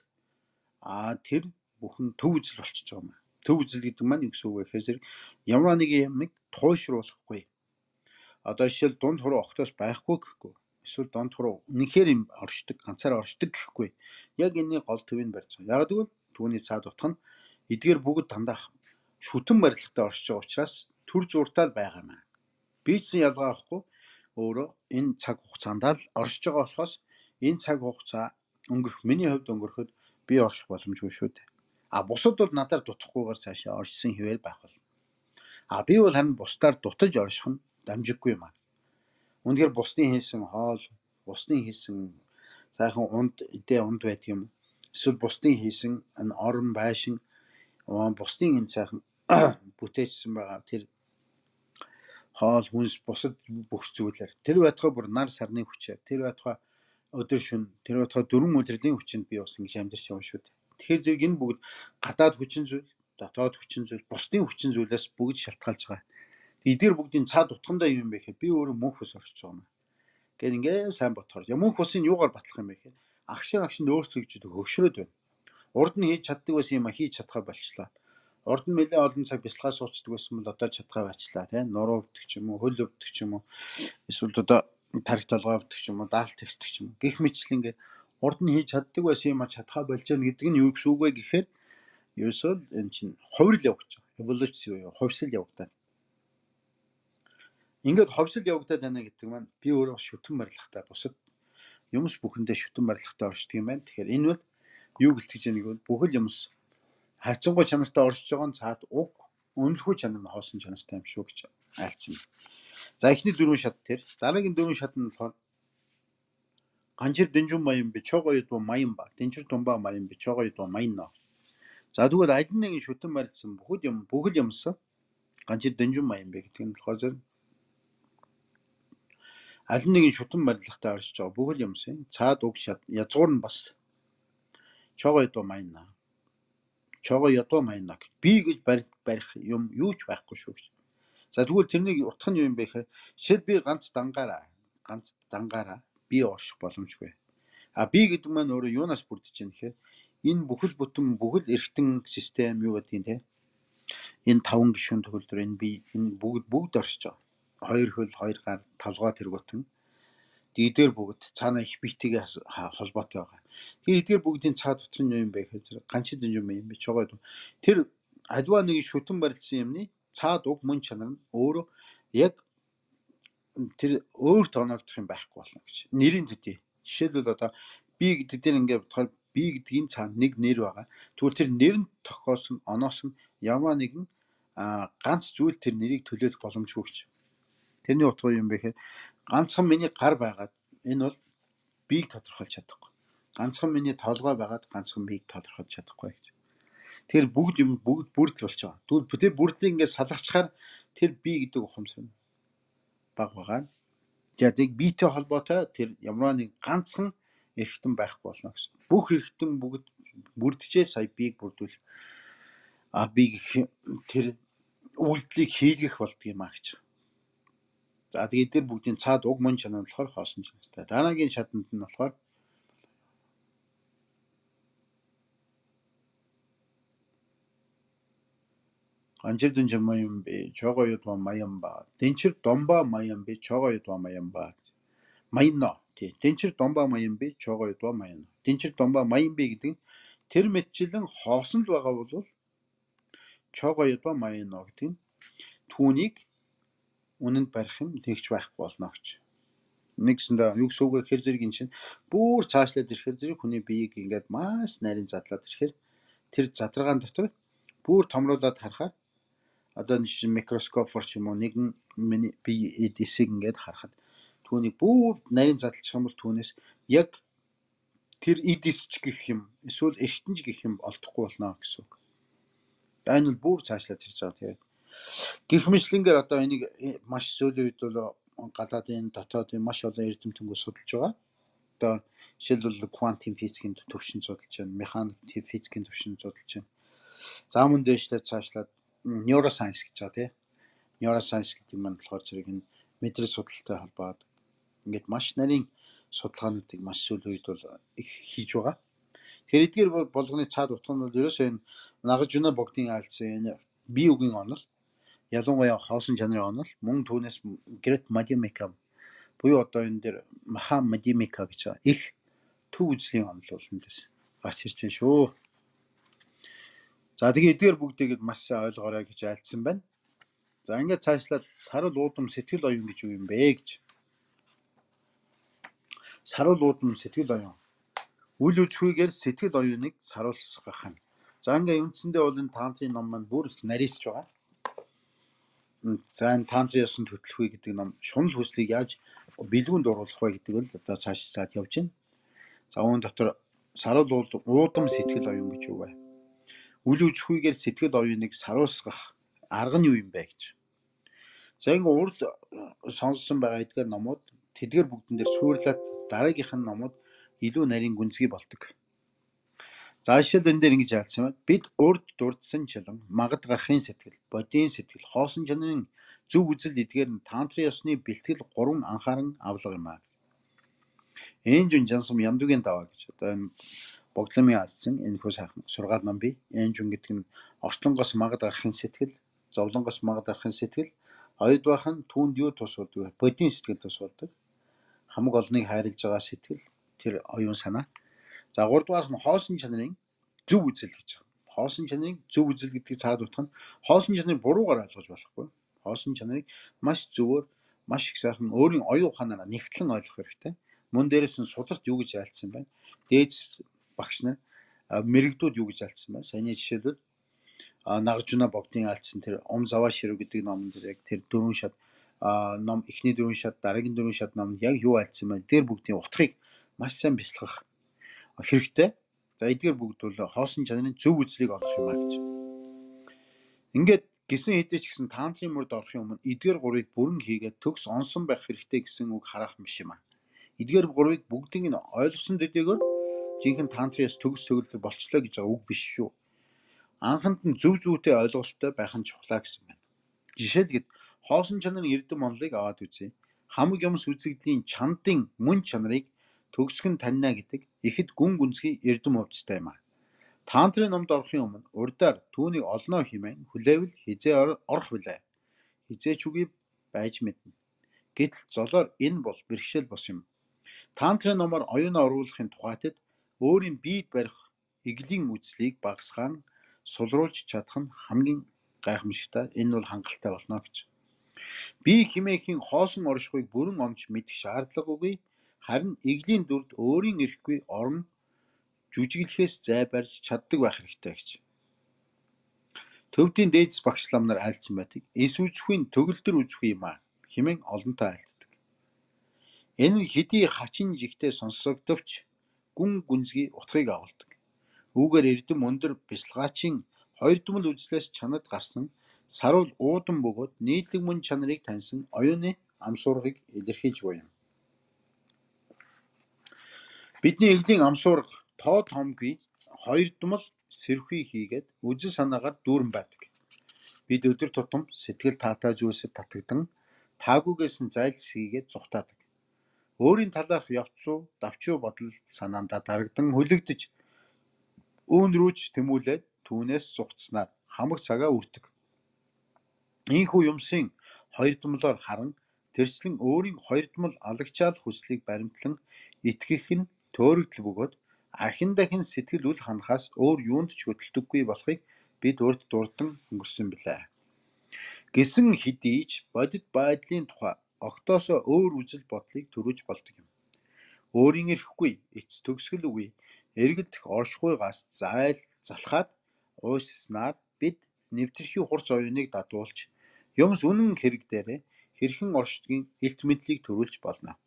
а тэр бүхэн төв үзэл болчихж байгаа юм. Төв үзэл гэдэг маань юу гэсэн үг вэ гэхээр ямар нэг юмыг туйшруулахгүй. Одоо жишээл дунд хуруу огтоос байхгүй гэхгүй. Эсвэл дунд хуруу үнэхээр юм оршдог, ганцаараа оршдог гэхгүй. Яг энэний гол төвийг барьж байгаа. Яг гэвэл түүний цаад утга нь эдгээр бүгд дандаа шүтэн барилгатай оршиж байгаа учраас төр зуртаал байгаа юм. Бичсэн ялгаа авахгүй өөрөө энэ цаг хугацаанд л оршиж байгаа болохоос энэ цаг хугацаа өнгөрөх миний хувьд өнгөрөхөд би орших боломжгүй шүү дээ. А бусад бол надаар дутахгүйгээр цаашаа оршсон хэвэл байх болно. А би бол харин бусдаар дутаж орших нь дамжиггүй юм аа. Үнэхээр бусдын хийсэн хоол, бусдын хийсэн сайхан унд эдээ унд байдаг юм. Эсвэл бусдын хийсэн энэ орон байшин, бусдын энэ сайхан бүтээжсэн байгаа тэр хоол, хүнс, бусад бүх зүйлээр тэр байтугай бүр нар сарны хүчээр, тэр байтугай өдөр шөнө, тэр байтугай дөрвөн өдрийн хүчинд би бас ингэж амьдарч байгаа шүү дээ. Тэгэхээр зэрэг энэ бүгд гадаад хүчин зүйл, дотоод хүчин зүйл, бусдын хүчин зүйлээс бүгд шалтгаалж байгаа. Эдгээр бүгдийн цаад утгандаа юм бэ гэхээр би өөрөө мөнх ус орчиж байгаа юм. Гэт ингээ сайн бодохоор мөнх усын юугаар батлах юм бэ гэхээр агшин агшинд өөрсдөө гэж хөгшрөөд байна. Урд нь хийж чаддаг байсан юм а хийж чадхаа болчлаа. Урд нь нэлээд олон цаг бясалгаа суучдаг байсан бол одоо чадхаа байчлаа тийм нуруу өвдөх ч юм уу, хөл өвдөх ч юм уу, эсвэл одоо тарих толгой өвдөх ч юм уу, даралт текстэх ч юм уу. Гэх мэтлэн ингээ урд нь хийж чаддаг байсан юм а чадхаа болж байгаа гэдэг нь юу гэсэн үг вэ гэхээр ерөөсөө энэ чинь хувирал явагдаж байгаа. Эволюци буюу хувьсэл явагдаад. Ингээд ховсол явагдаад байна гэдэг маань би өөрөө шүтэн барилгатай бусад юмс бүхэндээ шүтэн барилгатай оршдог юм байна. Тэгэхээр энэ бол юу гэлтэж яаг нь бүхэл юмс харьцангуй чанартай оршиж байгаа нь цаад уг үнэлэхгүй чанар нь хоосон чанартай юм шүү гэж айлцсан. За эхний дөрвөн шат тэр дараагийн дөрвөн шат нь болохоор Ганчир Дэнжүн Маян би чогоёд ба Маян ба. Дэнчир Тумба Маян би чогоёд ба Маян нөө. За тэгвэл аль нэгэн шүтэн барилсан бүхэл юм бүхэл юмсан Ганчир Дэнжүн Маян би гэдэг нь болохоор зэрэг аль нэгэн шүтэн барилгатай оршиж байгаа бүхэл юмсын цаад уг язгуур нь бас чогоёд ба Маян нөө. Чогоёд ба Маян нөө. Би гэж барих юм юу ч байхгүй шүү гэж. За тэгвэл тэрнийг утгах нь юу юм бэ гэхээр шил би ганц дангаараа ганц дангаараа би орших боломжгүй. А би гэдэг маань өөрөө юунаас бүрдэж байна гэхээр энэ бүхэл бүтэн бүхэл эргэтэн систем юу гэдэг юм те. Энэ таван гишүүн төгөлдөр энэ би энэ бүгд бүгд оршиж байгаа. Хоёр хөл, хоёр гар, толгой тэргуутан. Эдгээр бүгд цаана их битгий холбоотой байгаа. Тэр эдгээр бүгдийн цаад дотор нь юу юм бэ гэхээр Ганчир Дэнжүн Маян би чогоод тэр альва нэг шүтэн барилсан юмны цаад уг мөн чанар нь өөрөө яг тэр өөр тооногдох юм байхгүй болно гэж. Нэрийн төдий. Жишээлбэл одоо би гэдэг дээр ингээд бодохоор би гэдгийн цаана нэг нэр байгаа. Тэгвэл тэр нэрэнд тохиолсон оноос нь ямар нэгэн ганц зүйл тэр нэрийг төлөөлөх боломжгүй гэж. Тэрний утга юм бэ гэхээр ганцхан миний гар байгаад энэ бол биеийг тодорхойлж чадахгүй. Ганцхан миний толгой байгаад ганцхан биеийг тодорхойлж чадахгүй гэж. Тэр бүгд юм бүгд бүрдэл болж байгаа. Тэгвэл тэр бүрдлийг ингээд салгачаар тэр би гэдэг ухамсар нь баг байгаа. За тэг биетэй холбоотой тэр ямар нэг ганцхан эргэтэн байхгүй болно гэсэн. Бүх эргэтэн бүгд бүрдэжээ сая биеийг бүрдүүл. А би тэр үйлдэлийг хийлгэх болдгийм аа гэж. За тэгээд тэр бүгдийн цаад уг мөн чанар болохоор хоосон чанартай. Дараагийн шатанд нь болохоор Ганчир Дэнжүн Маян би чогоёд ба Маян ба. Дэнчир Домба Маян би чогоёд ба Маян ба. Маян нөө. Тий. Дэнчир Домба Маян би чогоёд ба Маян. Дэнчир Домба Маян би гэдэг нь тэр мэтчлэн хоосон л байгаа бол чогоёд ба Маян нөө гэдэг нь түүнийг үнэнд барих юм тэгж байхгүй болно гэж. Нэгсэндээ юу гэсэн үг вэ гэхээр зэрэг энэ чинь бүр цаашлаад ирэхээр зэрэг хүний биеийг ингээд маш нарийн задлаад ирэхээр тэр задрагаан дотор бүр томруулаад харахаар одоо нэг микроскопор ч юм уу нэгэн миний бие эдисийг ингээд харахад түүнийг бүр нарийн задлах юм бол түүнээс яг тэр эдисч гэх юм эсвэл эргэтэнж гэх юм олдохгүй болно гэсэн үг. Энэ бол бүр цаашлаад ирж байгаа тэгээд гэх мэтлэнгээр одоо энийг маш сүүлийн үед бол гадаадын дотоодын маш олон эрдэмтэнүүд судалж байгаа. Одоо жишээлбэл квантын физикийн төвшин судалж байна, механик физикийн төвшин судалж байна. За мөн дээшлээд цаашлаад neuroscience гэж байгаа тийм. Neuroscience гэдэг юм болохоор зэрэг энэ мэдрэл судалтай холбоод ингээд маш нарийн судалгаануудыг маш сүүлийн үед бол их хийж байгаа. Тэгэхээр эдгээр болгоны цаад утга нь бол ерөөсөө энэ Нагажуна богдын айлцсан энэ бие үгийн онол ялангуяа хоосон чанарын онол мөн түүнээс Great Madhyamaka буюу одоо энэ дээр Maha Madhyamaka гэж байгаа их төв үзлийн онол бол эндээс гарч ирж байна шүү. За тэгээ эдгээр бүгдийг маш сайн ойлгоорой гэж айлдсан байна. За ингээд цаашлаад сарал уудам сэтгэл оюун гэж юу юм бэ гэж. Сарал уудам сэтгэл оюун. Үл үзхүйгээр сэтгэл оюуныг саруулцгах нь. За ингээд үндсэндээ бол энэ тантрын ном маань бүр их нарийсж байгаа. За энэ тантрын ёсонд хөтлөх гэдэг ном шунал хүслийг яаж бэлгүүнд оруулах вэ гэдэг нь одоо цаашлаад явж байна. За үүн дотор сарал уудам сэтгэл оюун гэж юу вэ? Үл үзхүйгээр сэтгэл оюуныг саруулцгах арга нь юу юм бэ гэж. За ингэ урд сонссон байгаа эдгээр номууд тэдгээр бүгдэн дээр сүйрлээд дараагийнх нь номууд илүү нарийн гүнзгий болдог. За жишээл энэ дээр ингэж яалсан байна. Бид урд дурдсан чилэн магад гарахын сэтгэл, бодийн сэтгэл, хоосон чанарын зөв үзэл эдгээр нь тантрын ёсны бэлтгэл гурван анхааран авлага юм аа. Энжүн жансам яндугийн даваа гэж одоо энэ богдломын алдсан энэ хөө сайхан сургаал ном бий. Энжүн гэдэг нь орчлонгоос магад гарахын сэтгэл, зовлонгоос магад гарахын сэтгэл, хоёрдугаарх нь түүнд юу тус болдог вэ? Бодийн сэтгэл тус болдог. Хамаг олныг хайрлаж байгаа сэтгэл, тэр оюун санаа. За гуравдугаарх нь хоосон чанарын зөв үзэл гэж байна. Хоосон чанарын зөв үзэл гэдгийг цаад утга нь хоосон чанарыг буруугаар ойлгож болохгүй. Хоосон чанарыг маш зөвөр, маш их сайхан өөрийн оюун ухаанаараа нэгтлэн ойлгох хэрэгтэй. Мөн дээрээс нь сударт юу гэж айлцсан байна? Дээд багш нар мэрэгдүүд юу гэж айлцсан байна? Саяны жишээлбэл Нагажуна богдын айлцсан тэр Ом Заваа Ширүү гэдэг номон дээр яг тэр дөрвөн шат ном эхний дөрвөн шат дараагийн дөрвөн шат номонд яг юу айлцсан байна? Тэр бүгдийн утгыг маш сайн бясалгах хэрэгтэй. За эдгээр бүгд бол хоосон чанарын зөв үзлийг олох юм а гэж. Ингээд гисэн хэдий ч гэсэн тантрын мөрд орохын өмнө эдгээр гурвыг бүрэн хийгээд төгс онсон байх хэрэгтэй гэсэн үг харах юм шиг юм а. Эдгээр гурвыг бүгдийг нь ойлгосон төдийгөр жинхэнэ тантрын төгс төгөлдөр болчлоо гэж байгаа үг биш шүү. Анханд нь зөв зүйтэй ойлголттой байх нь чухлаа гэсэн байна. Жишээлбэл хоосон чанарын эрдэм онолыг аваад үзье. Хамаг юмс үзэгдлийн чандын мөн чанарыг төгсгөн таньна гэдэг ихэд гүн гүнзгий эрдэм хувцастай юм а. Тантрын номд орохын өмнө урдаар түүнийг олноо хэмээн хүлээвэл хизээ орох билээ. Хизээч үгүй байж мэднэ. Гэтэл золоор энэ бол бэрхшээл бос юм. Тантрын номоор оюунаа оруулахын тухайтад өөрийн биед барих иглийн үзлийг багасгаан сулруулж чадах нь хамгийн гайхамшигтай. Энэ бол хангалттай болно гэж. Би химээхийн хоосон оршихуйг бүрэн онж мэдэх шаардлагагүй. Харин иглийн дүрд өөрийн эрэхгүй орон жүжиглэхээс зай барьж чаддаг байх хэрэгтэй гэж. Төвдийн дээдс багш лам нар айлцсан байдаг. Эс үзэхүйн төгөлдөр үзэхгүй юм а хэмээн олонтой айлддаг. Энэ нь хэдий хачин жигтэй сонсогдовч гүн гүнзгий утгыг агуулдаг. Үүгээр эрдэм өндөр бясалгаачийн хоёр дүмэл үзлээс чанад гарсан саруул уудан бөгөөд нийтлэг мөн чанарыг таньсан оюуны амсуургыг илэрхийлж буй юм. Бидний иглийн амсуурга тоо томгүй хоёр дүмэл сэрхүй хийгээд үзэл санаагаар дүүрэн байдаг. Бид өдөр тутам сэтгэл таатай зүйлсэд татагдан таагүйгээс нь зайлс хийгээд зүхтаадаг. Өөрийн талаарх явцуу, давчуу бодол санаандаа дарагдан хүлэгдэж үүн рүүч тэмүүлээд түүнээс зүхтснаар хамаг цагаа үрдэг. Ийхүү юмсын хоёр дүмлоор харан тэрчлэн өөрийн хоёр дүмэл алагчаал хүслийг баримтлан итгэх нь төөрөгдөл бөгөөд ахин дахин сэтгэл үл ханахаас өөр юунд ч хөдөлдөггүй болохыг бид урд дурдан өнгөрсөн билээ. Гэсэн хэдий ч бодит байдлын тухай огтоосоо өөр үзэл бодлыг төрүүлж болдог юм. Өөрийн эрэхгүй, эц төгсгөл үгүй, эргэлдэх оршихуйгаас зайл залхаад уйснаар бид нэвтрэх хурц оюуныг дадуулж юмс үнэн хэрэг дээрээ хэрхэн оршдгийг илт мэдлийг төрүүлж болно.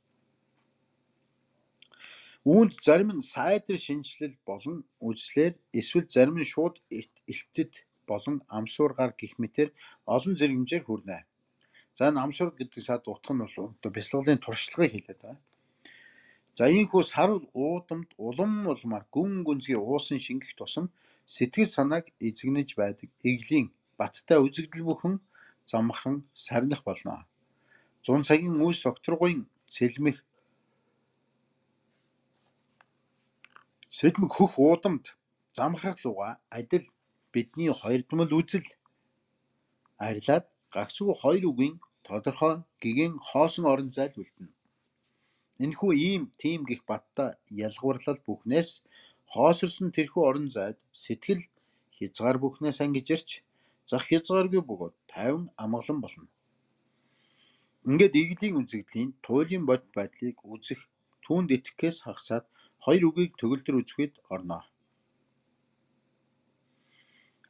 Үүнд зарим нь сайдэр шинжилэл болон үзлээр эсвэл зарим нь шууд илтэд болон амсуургаар гих мэтэр олон зэрэг хэмжээр хүрнэ. За энэ амсуурга гэдэг сад утга нь бол одоо бясалгалын туршлагыг хэлээд байна. За ийхүү сарвал уудамд улам улмаар гүн гүнзгий уусан шингэх тусам сэтгэл санааг эзэгнэж байдаг иглийн баттай үзэгдэл бүхэн замхан сарних болно. Зун цагийн үйс окторгуйн цэлмэх Сэдмэг хөх уудамд замхрах луга адил бидний хоёр дүмэл үзэл арилаад гагцгүй хоёр үгийн тодорхой гэгэн хоосон орон зайл үлдэнэ. Энэхүү ийм тийм гих баттай ялгуурлал бүхнээс хоосорсон тэрхүү орон зайд сэтгэл хязгаар бүхнээс ангижирч зах хязгааргүй бөгөөд тайван амгалан болно. Ингээд иглийн үзэгдлийн туйлын бод байдлыг үзэх түүнд итгэхээс хагасаад хоёр үгийг төгөлдөр үзэхэд орно.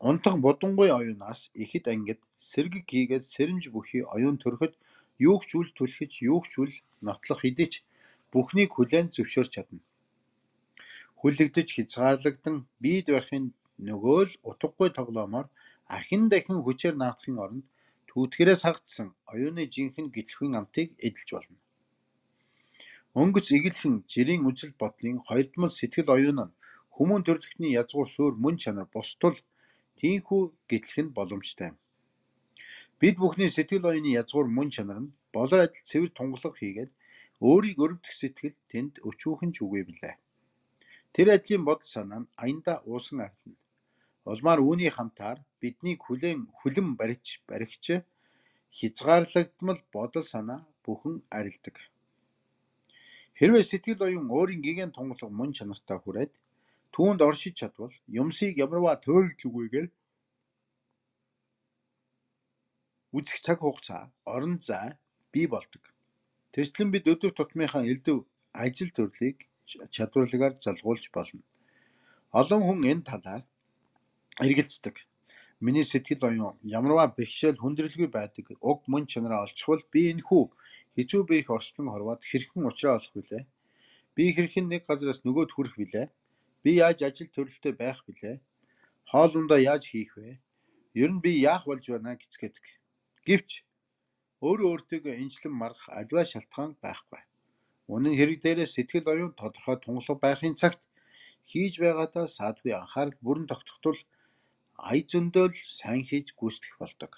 Унтах бодонгуй оюунаас ихэд ангид сэргэг хийгээд сэрэмж бүхий оюун төрөхөд юугч үл түлхэж юугч үл нотлох хэдий ч бүхнийг хүлээн зөвшөөрч чадна. Хүлэгдэж хязгаарлагдан биед барихын нөгөө л утгагүй тоглоомоор ахин дахин хүчээр наадахын оронд түүтгэрээс хагдсан оюуны жинхэнэ гитлэхүйн амтыг эдэлж болно. Өнгөц игэлхэн жирийн үзэл бодлын хоёр дүмэл сэтгэл оюун нь хүмүүн төрлөختний язгуур суурь мөн чанар бусдул тийхүү гитлэх нь боломжтой юм. Бид бүхний сэтгэл оюуны язгуур мөн чанар нь болор адил цэвэр тунгалаг хийгээд өөрийг өрөвдөх сэтгэл тэнд өчүүхэн ч үгүй билээ. Тэр адилын бодол санаа нь аянда уусан арилна. Улмаар үүний хамтаар биднийг хүлээн хүлэм барьж баригч хязгаарлагдмал бодол санаа бүхэн арилдаг. Хэрвээ сэтгэл оюун өөрийн гигэн тунгалаг мөн чанартай хүрээд түүнд оршиж чадвал юмсыг ямарваа төөрөглөгүйгээр үзэх цаг хугацаа, орон зай бий болдог. Тэрчлэн бид өдөр тутмынхаа элдв ажил төрлийг чадварлагаар залгуулж болно. Олон хүн энэ талаар эргэлздэг. Миний сэтгэл оюун ямарваа бэрхшээл хүндрэлгүй байдаг уг мөн чанараа олцвол би энэхүү хэцүү бэрх орчлон хорвоод хэрхэн уучраа олох вүлээ? Би хэрхэн нэг газараас нөгөөд хүрэх билээ? Би яаж ажил төрөлтэй байх билээ? Хоол ундаа яаж хийх вэ? Ер нь би яах болж байна гэцгээдэг. Гэвч өөрөө өөртөө энчлэн маргах альва шалтгаан байхгүй. Үнэн хэрэг дээрээ сэтгэл оюун тодорхой тунгалаг байхын цагт хийж байгаадаа саадгүй анхаарал бүрэн тогтохтол ая зөндөөл сайн хийж гүйцэтгэх болдог.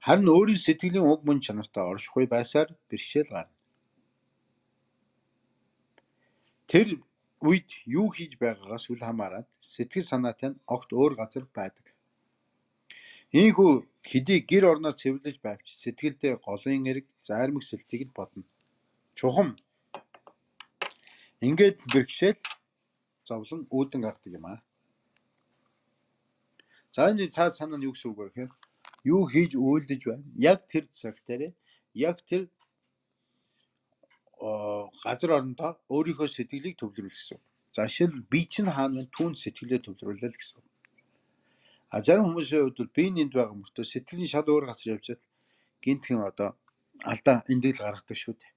Харин өөрийн сэтгэлийн уг мөн чанартай оршихгүй байсаар бэрхшээл гарна. Тэр үед юу хийж байгаагаас үл хамааран сэтгэл санаатай нь огт өөр газар байдаг. Ийхүү хэдий гэр орноо цэвэрлэж байвч сэтгэлдээ голын эрг, зайрмаг сэлтийг нь бодно. Чухам ингээд бэрхшээл зовлон үүдэн гардаг юм аа. За энэ цаад санаа нь юу гэсэн үг вэ гэхээр юу хийж үйлдэж байна? Яг тэр цаг дээр яг тэр газар орондоо өөрийнхөө сэтгэлийг төвлөрүүл гэсэн. За жишээл би чинь хаана вэ? Түүнд сэтгэлээ төвлөрүүлээ л гэсэн. А зарим хүмүүсийн хувьд бол би нэнд байгаа мөртөө сэтгэлийн шал өөр газар явжаад гинтхэн одоо алдаа эндэл гаргадаг шүү дээ.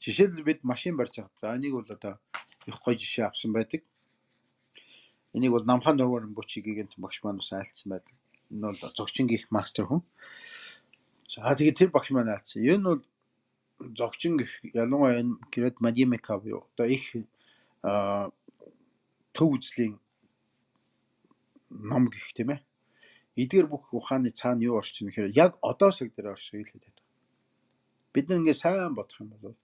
Жишээл бид машин барьж байгаа. За энийг бол одоо их гоё жишээ авсан байдаг. Энийг бол Намхан Нурман Бүчигийн багш маань бас айлцсан байдаг. Энэ бол зогчин гих мастер хүн. За тэгээд тэр багш маань айлцсан. Энэ бол зогчин гих ялангуяа энэ гэрээд Мадимека буюу одоо их төв үзлийн ном гэх тийм ээ. Эдгээр бүх ухааны цаана юу орчих юм гэхээр яг одоо цаг дээр оршиж хэлээд байдаг. Бид нэг ингэ сайн бодох юм бол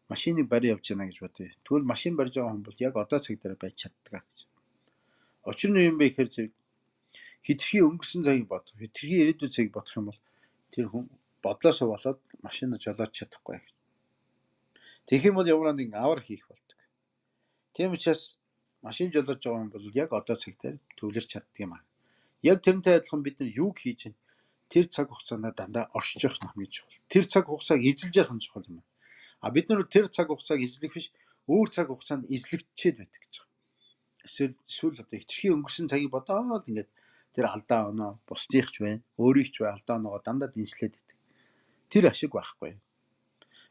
машиныг барь явж байна гэж бодъё. Тэгвэл машин барьж байгаа хүн бол яг одоо цаг дээр байж чаддаг гэж. Учир нь юм бэ гэхээр зэрэг хитрхи өнгөрсөн цагийг бодох, хитрхи ирээдүйн цагийг бодох юм бол тэр хүн бодлоосоо болоод машинаа жолооч чадахгүй гэж. Тэгэх юм бол ямар нэг авар хийх болдог. Тийм учраас машин жолоож байгаа хүн бол яг одоо цаг дээр төвлөрч чаддаг юм аа. Яг тэрнтэй адилхан бид нар юг хийж чинь тэр цаг хугацаанд дандаа оршиж явах хамгийн чухал. Тэр цаг хугацааг эзэлж явах нь чухал юм. А бид нар тэр цаг хугацааг эзлэх биш өөр цаг хугацаанд эзлэгдчихэд байдаг гэж байна. Эсвэл эсвэл одоо хитрхи өнгөрсөн цагийг бодоод ингээд тэр алдаа оноо бусдыхч байна, өөрийгч бай алдаа оноогоо дандаа дэнслээд байдаг. Тэр ашиг байхгүй.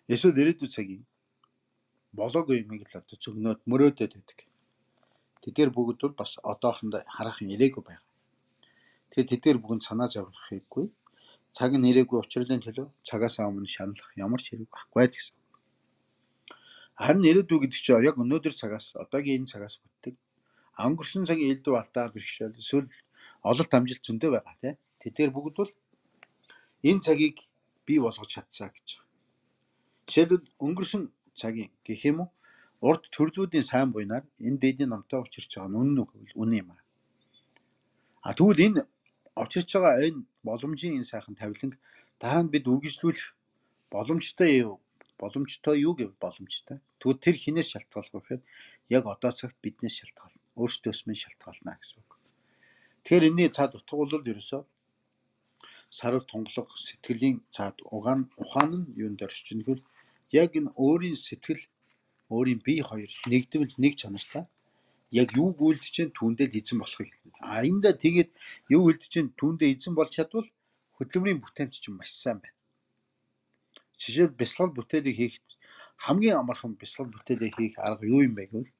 Эсвэл ирээдүйн цагийг болоогүй юмыг л одоо зөвнөд мөрөөдөд байдаг. Тэдгээр бүгд бол бас одоохондоо хараахан ирээгүй байна. Тэгэхээр тэдгээр бүгд санаа зовлох хэрэггүй. Цаг нь ирээгүй учраас төлөө цагаас өмнө шаналлах ямар ч хэрэг байхгүй гэсэн. Харин ирээдүй гэдэг чинь яг өнөөдөр цагаас одоогийн энэ цагаас бүтдэг. Өнгөрсөн цагийн элдв алдаа бэрхшээл эсвэл ололт амжилт зөндөө байгаа тийм. Тэдгээр бүгд бол энэ цагийг бий болгож чадсаа гэж. Жишээлбэл өнгөрсөн цагийн гэх юм уу урд төрлүүдийн сайн буйнаар энэ дээдийн номтой учирч байгаа нь үнэн үг гэвэл үнэн юм аа. А тэгвэл энэ учирч байгаа энэ боломжийн энэ сайхан тавиланг дараа нь бид үргэлжлүүлэх боломжтой юу? Боломжтой юу гэвэл боломжтой. Тэгвэл тэр хинээс шалтгаалж байгаа гэхээр яг одоо цагт биднээс шалтгаална. Өөрсдөөс минь шалтгаална гэсэн үг. Тэгэхээр энэний цаад утга бол ерөөсөө сарав тунгалаг сэтгэлийн цаад угаан ухаан нь юунд оршиж байгаа гэвэл яг энэ өөрийн сэтгэл өөрийн бие хоёр нэгдвэл нэг чанартай яг юу үйлдэж чинь түүндээ л эзэн болохыг хэлнэ. А эндээ тэгээд юу үйлдэж чинь түүндээ эзэн болж чадвал хөдөлмөрийн бүтээмж чинь маш сайн байна. Жишээл бясалгал бүтээлийг хийх хамгийн амархан бясалгал бүтээлийг хийх арга юу юм бэ гэвэл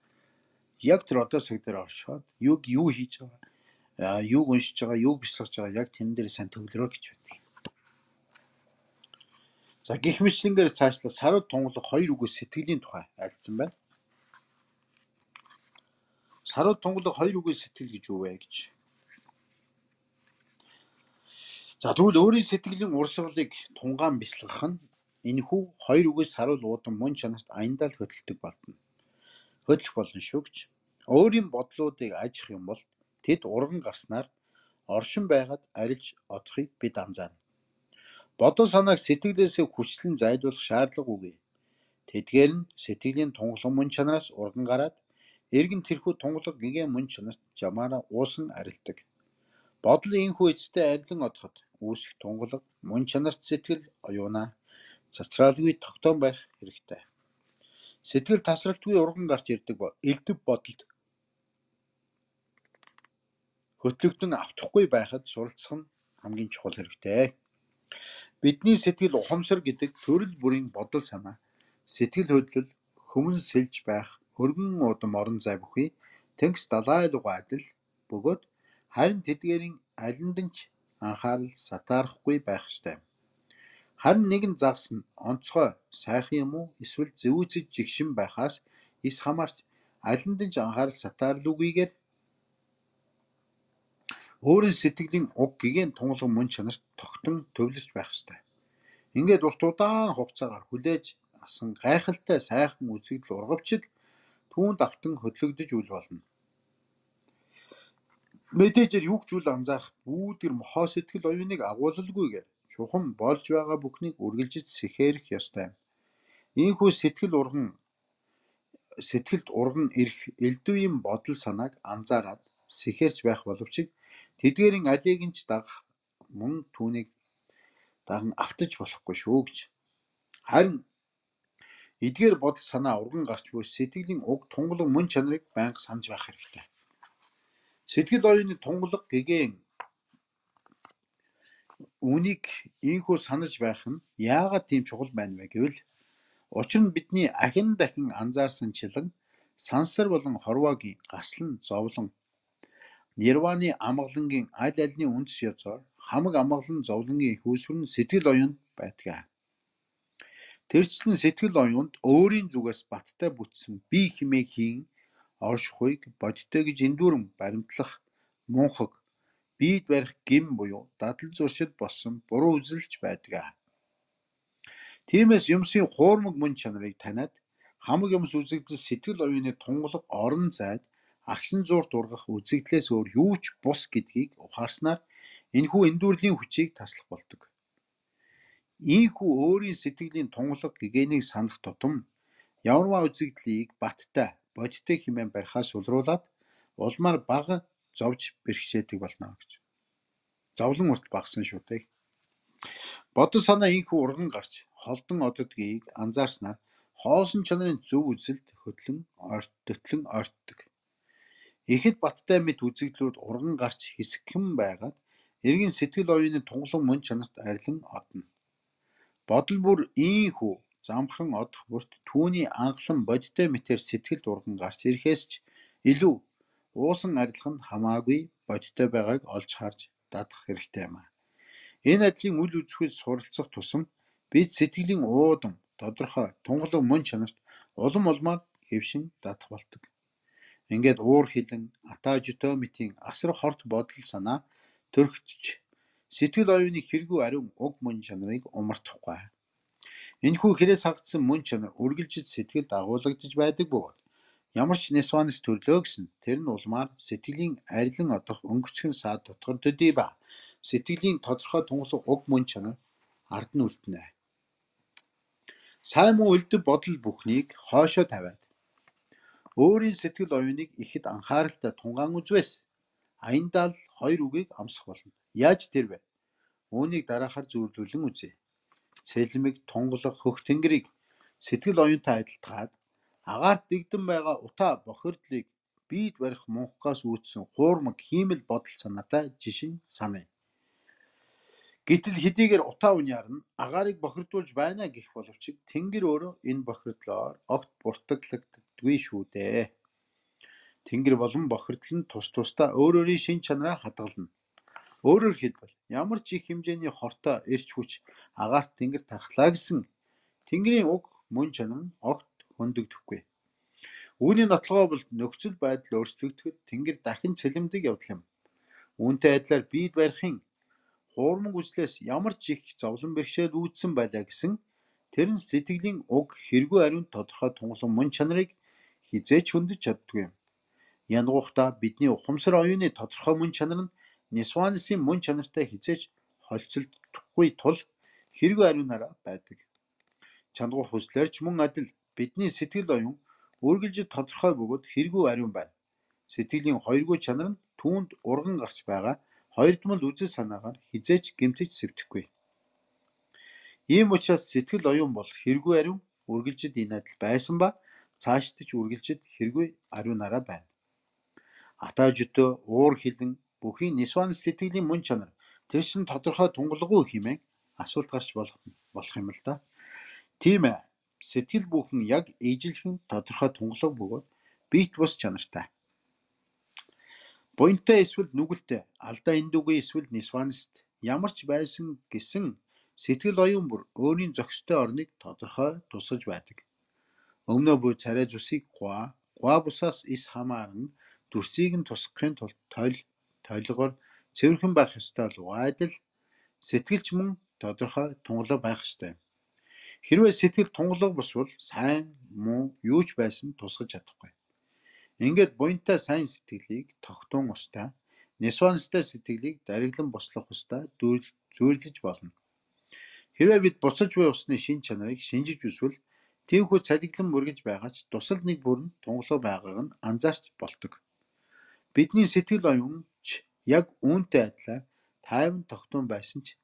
яг тэр одоо цаг дээр оршоод юг юу хийж байгаа, юг уншиж байгаа, юг бясалгаж байгаа яг тэн дээр сайн төвлөрөө гэж байдаг. За гэх мэтлэнгээр цаашлаа сарав тунгалаг хоёр үгөө сэтгэлийн тухай альцсан байна. Сарав тунгалаг хоёр үгөө сэтгэл гэж юу вэ гэж. За тэгвэл өөрийн сэтгэлийн урсгалыг тунгаан бясалгах нь энэхүү хоёр үгээс сарвал уудан мөн чанарт аяндаа л хөдөлдөг болно. Хөдлөх болно шүү гэж. Өөрийн бодлуудыг ажих юм бол тэд урган гарснаар оршин байгаад арилж одохыг бид анзаарна. Бодол санааг сэтгэлээсээ хүчлэн зайлуулах шаардлагагүй. Тэдгээр нь сэтгэлийн тунгалаг мөн чанараас урган гараад эргэн тэрхүү тунгалаг гэгээ мөн чанарт жамаараа уусан арилдаг. Бодлын энхүү эцтэй арилан одоход үүсэх тунгалаг мөн чанарт сэтгэл оюунаа цацраалгүй тогтоон байх хэрэгтэй. Сэтгэл тасралтгүй урган гарч ирдэг элдв бодолд хөтлөгдөн автахгүй байхад суралцах нь хамгийн чухал хэрэгтэй. Бидний сэтгэл ухамсар гэдэг төрөл бүрийн бодол санаа, сэтгэл хөдлөл, хөмөн сэлж байх өргөн удам орон зай бүхий тэнгис далайлуугаа адил бөгөөд харин тэдгээрийн алинд нь ч анхаарал сатаарахгүй байх ёстой. Харин нэгэн загас нь онцгой сайхан юм уу эсвэл зэвүүцэж жигшин байхаас ис хамаарч алинд нь ч анхаарал сатаарлуугүйгээр өөрийн сэтгэлийн уг гэгээн тунгалаг мөн чанарт тогтон төвлөрч байх ёстой. Ингээд урт удаан хугацаагаар хүлээж асан гайхалтай сайхан үзэгдэл ургавчиг түүнд автан хөдлөгдөж үл болно. Мэдээжээр юу ч үл анзаарах бүүдэр мохоо сэтгэл оюуныг агуулалгүйгээр чухам болж байгаа бүхнийг үргэлжиж сэхээрэх ёстой. Ийхүү сэтгэл урган сэтгэлд урган ирэх элдвийн бодол санааг анзаараад сэхэрч байх боловч тэдгээрийн алийг нь ч дагах мөн түүнийг даган автаж болохгүй шүү гэж. Харин эдгээр бодол санаа урган гарч буй сэтгэлийн уг тунгалаг мөн чанарыг байнга санаж байх хэрэгтэй. Сэтгэл оюуны тунгалаг гэгээн үнийг ийхүү санаж байх нь яагаад тийм чухал байна вэ гэвэл учир нь бидний ахин дахин анзаарсанчлан сансар болон хорвоогийн гаслан зовлон нирваны амгалангийн аль альны үндэс язгаар хамаг амгалан зовлонгийн их үүсвэр нь сэтгэл оюунд байдаг. Тэрчлэн сэтгэл оюунд өөрийн зүгээс баттай бүтсэн бие хэмээх хийн оршихуйг бодтой гэж эндүүрэн баримтлах мунхаг биед барих гим буюу дадал зуршил болсон буруу үзэлж байдаг. Тиймээс юмсын хуурмаг мөн чанарыг таниад хамаг юмс үзэгдэл сэтгэл оюуны тунгалаг орон зайд агшин зуурт ургах үзэгдлээс өөр юу ч бус гэдгийг ухаарснаар энэхүү эндүрлийн хүчийг таслах болдог. Ийхүү өөрийн сэтгэлийн тунгалаг гэгээнийг санах тутам ямарваа үзэгдлийг баттай бодтой хэмээн барихаас улруулаад улмаар бага зовж бэрхшээдэг болно гэж. Зовлон урт багсан шүү дээ. Бодол санаа ийхүү урган гарч холдон ододгийг анзаарснаар хоосон чанарын зөв үзэлд хөтлөн ойртотлон ойртдог. Ихэд баттай мэт үзэгдлүүд урган гарч хэсэгхэн байгаад эргэн сэтгэл оюуны тунгалаг мөн чанарт арилан одно. Бодол бүр ийхүү замхан одох бүрт түүний анхлан бодтой мэтэр сэтгэлд урган гарч ирэхээс ч илүү уусан арилах нь хамаагүй бодтой байгааг олж харж дадах хэрэгтэй юм. Энэ адилын үл үзэхэд суралцах тусам бид сэтгэлийн уудам тодорхой тунгалаг мөн чанарт улам улмаар хэвшин дадах болдог. Ингээд уур хилэн атажитомитийн асар хорт бодол санаа төрөгтч сэтгэл оюуны хэрэггүй ариун уг мөн чанарыг умартахгүй. Энэхүү хэрээс хагдсан мөн чанар үргэлжид сэтгэлд агуулгадж байдаг бөгөөд ямар ч нисванс төрлөө гэсэн тэр нь улмаар сэтгэлийн арилан одох өнгөрцгөн саад дотгор төдий ба сэтгэлийн тодорхой тунгалаг уг мөн чанар ард нь үлдэнэ. Сайн муу үлдэв бодол бүхнийг хоошоо тавиад өөрийн сэтгэл оюуныг ихэд анхааралтай тунгаан үзвээс аяндаа л хоёр үгийг амсах болно. Яаж тэр вэ? Үүнийг дараахаар зөвлөлөн үзье. Цэлмэг тунгалаг хөх тэнгэрийг сэтгэл оюунтай адилтгаад агаарт бэгдэн байгаа утаа бохирдлыг биед барих мунхгаас үүдсэн хуурмаг хиймэл бодол санаатай жишин саная. Гэтэл хэдийгээр утаа униар нь агаарыг бохирдуулж байна гэх боловч тэнгэр өөрөө энэ бохирдлоор огт буртаглагддаггүй шүү дээ. Тэнгэр болон бохирдол нь тус тусдаа өөр өөрийн шин чанараа хадгална. Өөрөөр хэлбэл ямар ч их хэмжээний хортой эрч хүч агаарт тэнгэр тархлаа гэсэн тэнгэрийн уг мөн чанар нь огт хөндөгдөхгүй. Үүний нотлогоо бол нөхцөл байдал өөрчлөгдөхөд тэнгэр дахин цэлэмдэг явдал юм. Үүнтэй адилаар биед барихын хуурмаг үзлээс ямар ч их зовлон бэрхшээл үүдсэн байлаа гэсэн тэр нь сэтгэлийн уг хэрэггүй ариун тодорхой тунгалаг мөн чанарыг хизээч хөндөж чаддгүй юм. Янгуухта бидний ухамсар оюуны тодорхой мөн чанар нь нисванысын мөн чанартай хизээч холцолдохгүй тул хэрэггүй ариунаараа байдаг. Чангуух хүслээр ч мөн адил бидний сэтгэл оюун үргэлж тодорхой бөгөөд хэрэггүй ариун байна. Сэтгэлийн хоёргүй чанар нь түүнд урган гарч байгаа хоёрдмол үзэл санаагаар хизээч гэмтэж сэвтэхгүй. Ийм учраас сэтгэл оюун бол хэрэггүй ариун үргэлжид энэ адил байсан ба цаашдаж үргэлжид хэрэггүй ариунаараа байна. Атажитөө уур хилэн бүхий нисванс сэтгэлийн мөн чанар тэр чинь тодорхой тунгалаггүй хэмээн асуулт гарч болох болох юм л да. Тийм ээ. Сэтгэл бүхэн яг ижилхэн тодорхой тунгалаг бөгөөд биет бус чанартай. Буянтай эсвэл нүгэлтэй, алдаа эндүгүй эсвэл нисванист ямар ч байсан гэсэн сэтгэл оюун бүр өөрийн зохистой орныг тодорхой тусгаж байдаг. Өмнө буй царай зүсийг гуа, гуа бусаас ис хамааран дүрсийг нь тусгахын тулд тойл тойлгоор цэвэрхэн байх ёстой л адил сэтгэлч мөн тодорхой тунгалаг байх ёстой. Хэрвээ сэтгэл тунгалаг босвол сайн муу юу ч байсан тусгаж чадахгүй. Ингээд буянтай сайн сэтгэлийг тогтун устай, нисванистай сэтгэлийг дариглан бослох устай зүйрлэж болно. Хэрвээ бид буцаж буй усны шин чанарыг шинжиж үзвэл тиймхүү цалиглан мөргөж байгаа ч тусал нэг бүрэн тунгалаг байгааг нь анзаарч болдог. Бидний сэтгэл оюун ч яг үүнтэй адилаар тайван тогтун байсан ч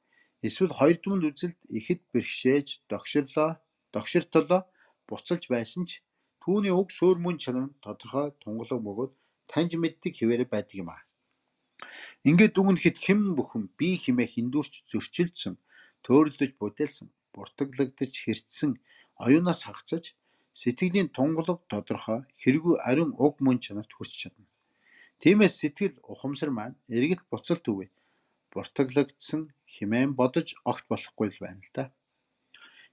эсвэл хоёр дүнд үзэлд ихэд бэрхшээж догширлоо, догширтлоо буцалж байсан ч түүний уг суурь мөн чанар нь тодорхой тунгалаг бөгөөд таньж мэддэг хэвээр байдаг юм аа. Ингээд дүгнэхэд хэн бүхэн бие хэмээх хиндүүрч зөрчилдсөн, төөрөлдөж бүдэлсэн, буртаглагдаж хэрцсэн оюунаас хагацж сэтгэлийн тунгалаг тодорхой хэрэггүй ариун уг мөн чанарт хүрч чадна. Тиймээс сэтгэл ухамсар маань эргэл буцалт үгүй буртаглагдсан хэмээн бодож огт болохгүй л байна л да.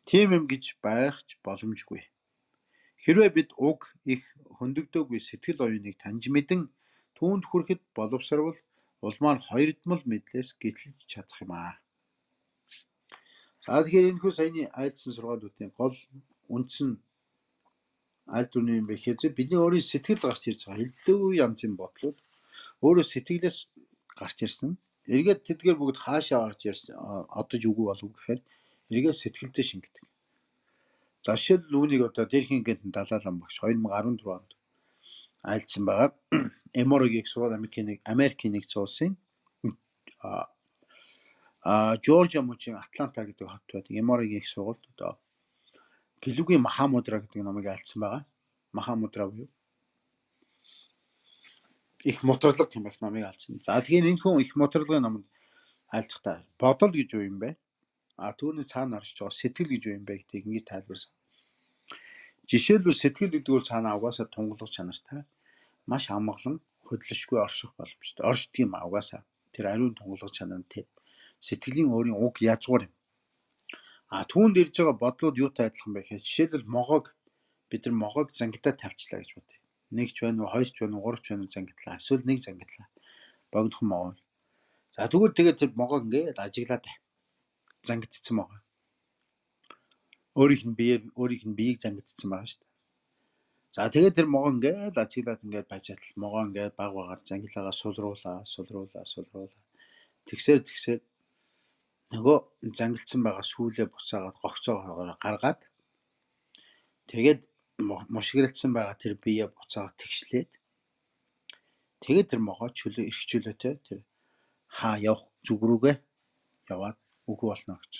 Тийм юм гэж байхч боломжгүй. Хэрвээ бид уг их хөндөгдөөгүй сэтгэл оюуныг таньж мэдэн түүнд хүрэхэд боловсрвол улмаар хоёрдмол мэдлээс гэтлэж чадах юм аа. За тэгэхээр энэ хүү саяны айдсан сургаалуудын гол үндсэн аль дүрний юм бэ гэхээр бидний өөрийн сэтгэл гарч ирж байгаа элдв янзын бодлууд өөрөө сэтгэлээс гарч ирсэн. Эргээд тэдгээр бүгд хаашаа гарч ирсэн одож үгүй болов гэхээр эргээд сэтгэлдээ шингэдэг. За жишээл үүнийг одоо дээрхийн гэнтэн Далайлан багш хоёр мың арван дөрөв онд айлдсан байгаа. Эморогийн сургаал Америкийн Америкийн нэгдсэн улсын а Жоржиа мужийн Атланта гэдэг хот байдаг. Эморогийн их сургуульд одоо Гэлүгийн Махамудра гэдэг номыг айлдсан байгаа. Махамудра буюу их мутарлаг гэмэх номыг айлдсан. За тэгэхээр энэ хүн их мутарлагын номонд айлдахдаа бодол гэж юу юм бэ? А түүний цаана оршиж байгаа сэтгэл гэж юу юм бэ гэдгийг ингэж тайлбарсан. Жишээлбэл сэтгэл гэдэг бол цаана угаасаа тунгалаг чанартай маш амгалан хөдлөшгүй орших боломжтой. Оршдог юм а угаасаа. Тэр ариун тунгалаг чанар нь тэр сэтгэлийн өөрийн уг язгуур юм. А түүнд ирж байгаа бодлууд юутай адилхан бэ гэхээр жишээлбэл могоог бид нар могоог зангидаа тавьчлаа гэж бодъё. Нэгч байна уу, хоёрч байна уу, гуравч байна уу зангидлаа. Эсвэл нэг зангидлаа. Богдхон могоо. За тэгвэл тэгээд тэр могоог ингээд ажиглаад бай. Зангидсан могоо. Өөрийнх нь биеэр өөрийнх нь биеийг зангидсан байгаа шүү дээ. За тэгээд тэр могоо ингээд ажиглаад ингээд байж чадал могоо ингээд баг багаар зангилаагаа сулруулаа, сулруулаа, сулруулаа. Тэгсээр тэгсээр нөгөө зангилсан байгаа сүүлээ буцаагаад гогцоогоогоор гаргаад тэгээд мушгирэлцсэн байгаа тэр биеэ буцаагаад тэгшлээд тэгээд тэр могоо чөлөө эрх чөлөөтэй тэр хаа явах зүг рүүгээ яваад үгүй болно гэж.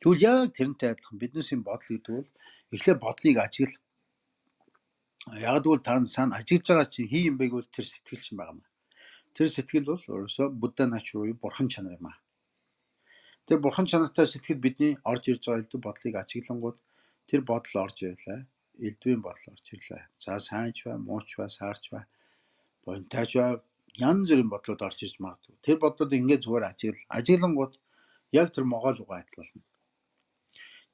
Тэгвэл яг тэрнтэй адилхан биднээс юм бодол гэдэг бол эхлээд бодлыг ажигл. Яг тэгвэл та сайн ажиглаж байгаа чинь хий юм бэ гэвэл тэр сэтгэл чинь байгаа юм. Тэр сэтгэл бол өөрөөсөө Будда нач буюу бурхан чанар юм аа. Тэр бурхан чанартай сэтгэл бидний орж ирж байгаа элдв бодлыг ажиглангууд тэр бодол орж ирлээ. Элдвийн бодол орж ирлээ. За сайнч бай, мууч бай, саарч бай, буянтайч бай, янз бүрийн бодлууд орж ирж магадгүй. Тэр бодлууд ингээд зүгээр ажигл. Ажиглангууд яг тэр могоол угаа адил болно.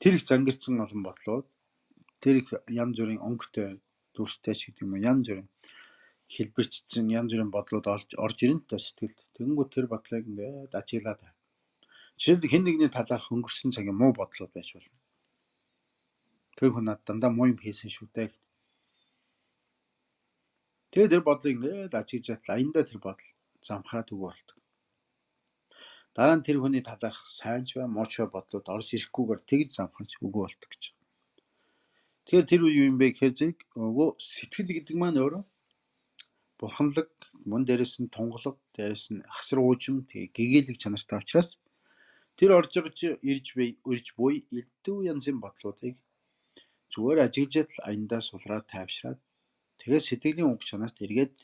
Тэр их зангирсан олон бодлууд, тэр их янз бүрийн өнгөтэй, дүрстэй ч гэдэг юм уу, янз бүрийн хэлбэрчсэн янз бүрийн бодлууд орж орж ирэн л та сэтгэлд. Тэгэнгүүт тэр бодлыг ингээд ажиглаад байна. Жишээлбэл хэн нэгний талаарх өнгөрсөн цагийн муу бодлууд байж болно. Тэр хүн над дандаа муу юм хийсэн шүү дээ. Тэгээд тэр бодлыг ингээд ажиглаж чадлаа. Аяндаа тэр бодол замхраад үгүй болдог. Дараа нь тэр хүний талаарх сайнч бай, мууч бай бодлууд орж ирэхгүйгээр тэгж замхарч үгүй болдог гэж. Тэгэхээр тэр юу юм бэ гэхээр зэрэг өвөө сэтгэл гэдэг маань өөрөө бурханлаг, мөн дээрээс нь тунгалаг, дээрээс нь ахсар уужим, тэгээ гэгээлэг чанартай учраас тэр орж ирж ирж бай, өрж буй элдв янзын бодлуудыг зүгээр ажиглаж л аяндаа сулраад тайвшраад тэгээд сэтгэлийн уг чанарт эргээд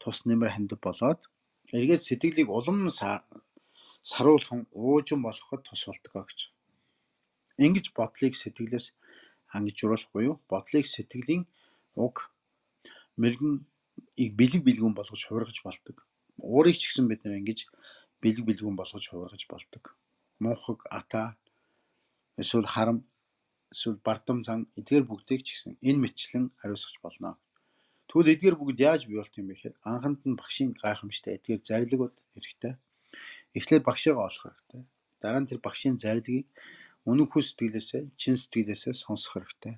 тус нэмэр хандив болоод эргээд сэтгэлийг улам саруулхан уужим болгоход тус болдог гэж. Ингэж бодлыг сэтгэлээс ангижруулах буюу бодлыг сэтгэлийн уг мэрэгэн бэлэг бэлгүүн болгож хувиргаж болдог. Уурыг ч гэсэн бид нэр ингэж бэлэг бэлгүүн болгож хувиргаж болдог. Мунхаг, ата, эсвэл харам, эсвэл бардам зан эдгээр бүгдийг ч гэсэн энэ мэтчлэн хариуцах болно. Тэгвэл эдгээр бүгд яаж бий болт юм бэ гэхээр анханд нь багшийн гайхамшигтай эдгээр зарилгууд хэрэгтэй. Эхлээд багшаагаа олох хэрэгтэй. Дараа нь тэр багшийн зарилгийг үнэн хүс сэтгэлээсээ, чин сэтгэлээсээ сонсох хэрэгтэй.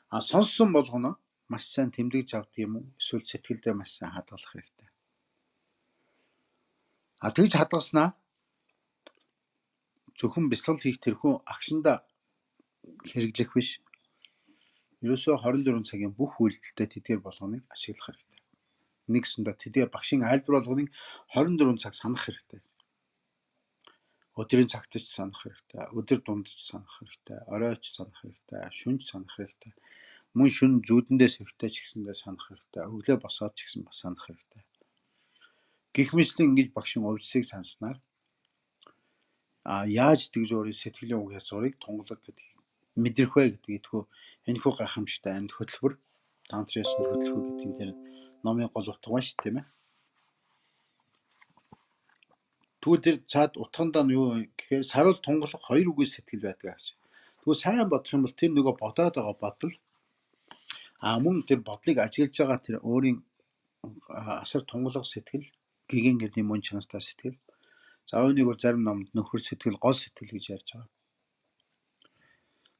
А сонссон болгоно маш сайн тэмдэг завд юм уу? Эсвэл сэтгэлдээ маш сайн хадгалах хэрэгтэй. А тэгж хадгалснаа зөвхөн бясалгал хийх тэрхүү агшинда хэрэглэх биш. Ерөөсөө хорин дөрвөн цагийн бүх үйлдэлтэй тэдгээр болгоныг ашиглах хэрэгтэй. Нэгсэндээ тэдгээр багшийн айлдвар болгоныг хорин дөрвөн цаг санах хэрэгтэй. Өдрийн цагт ч санах хэрэгтэй. Өдөр дунд ч санах хэрэгтэй. Оройч санах хэрэгтэй. Шүнж санах хэрэгтэй. Мөн шүн зүүдэндээс хэрэгтэй ч гэсэндээ санах хэрэгтэй. Өглөө босоод ч гэсэн бас санах хэрэгтэй. Гэх мэтлэн ингэж багшийн увдсыг санснаар а яаж тэгж өөрийн сэтгэлийн уг язгуурыг тунгалаг гэдгийг мэдрэх вэ гэдэг итгүү энэхүү гайхамшигтай амьд хөтөлбөр тантрын ёсонд хөтөлбөр гэдэг нь тэр номын гол утга байна шүү дээ, тийм ээ. Тэгвэл тэр цаад утгандаа нь юу гэхээр саруул тунгалах хоёр үгүй сэтгэл байдаг гэж. Тэгвэл сайн бодох юм бол тэр нөгөө бодоод байгаа бодол а мөн тэр бодлыг ажиглаж байгаа тэр өөрийн асар тунгалах сэтгэл гэгэн гэрний мөн чанартай сэтгэл. За үүнийг бол зарим номд нөхөр сэтгэл, гол сэтгэл гэж ярьж байгаа.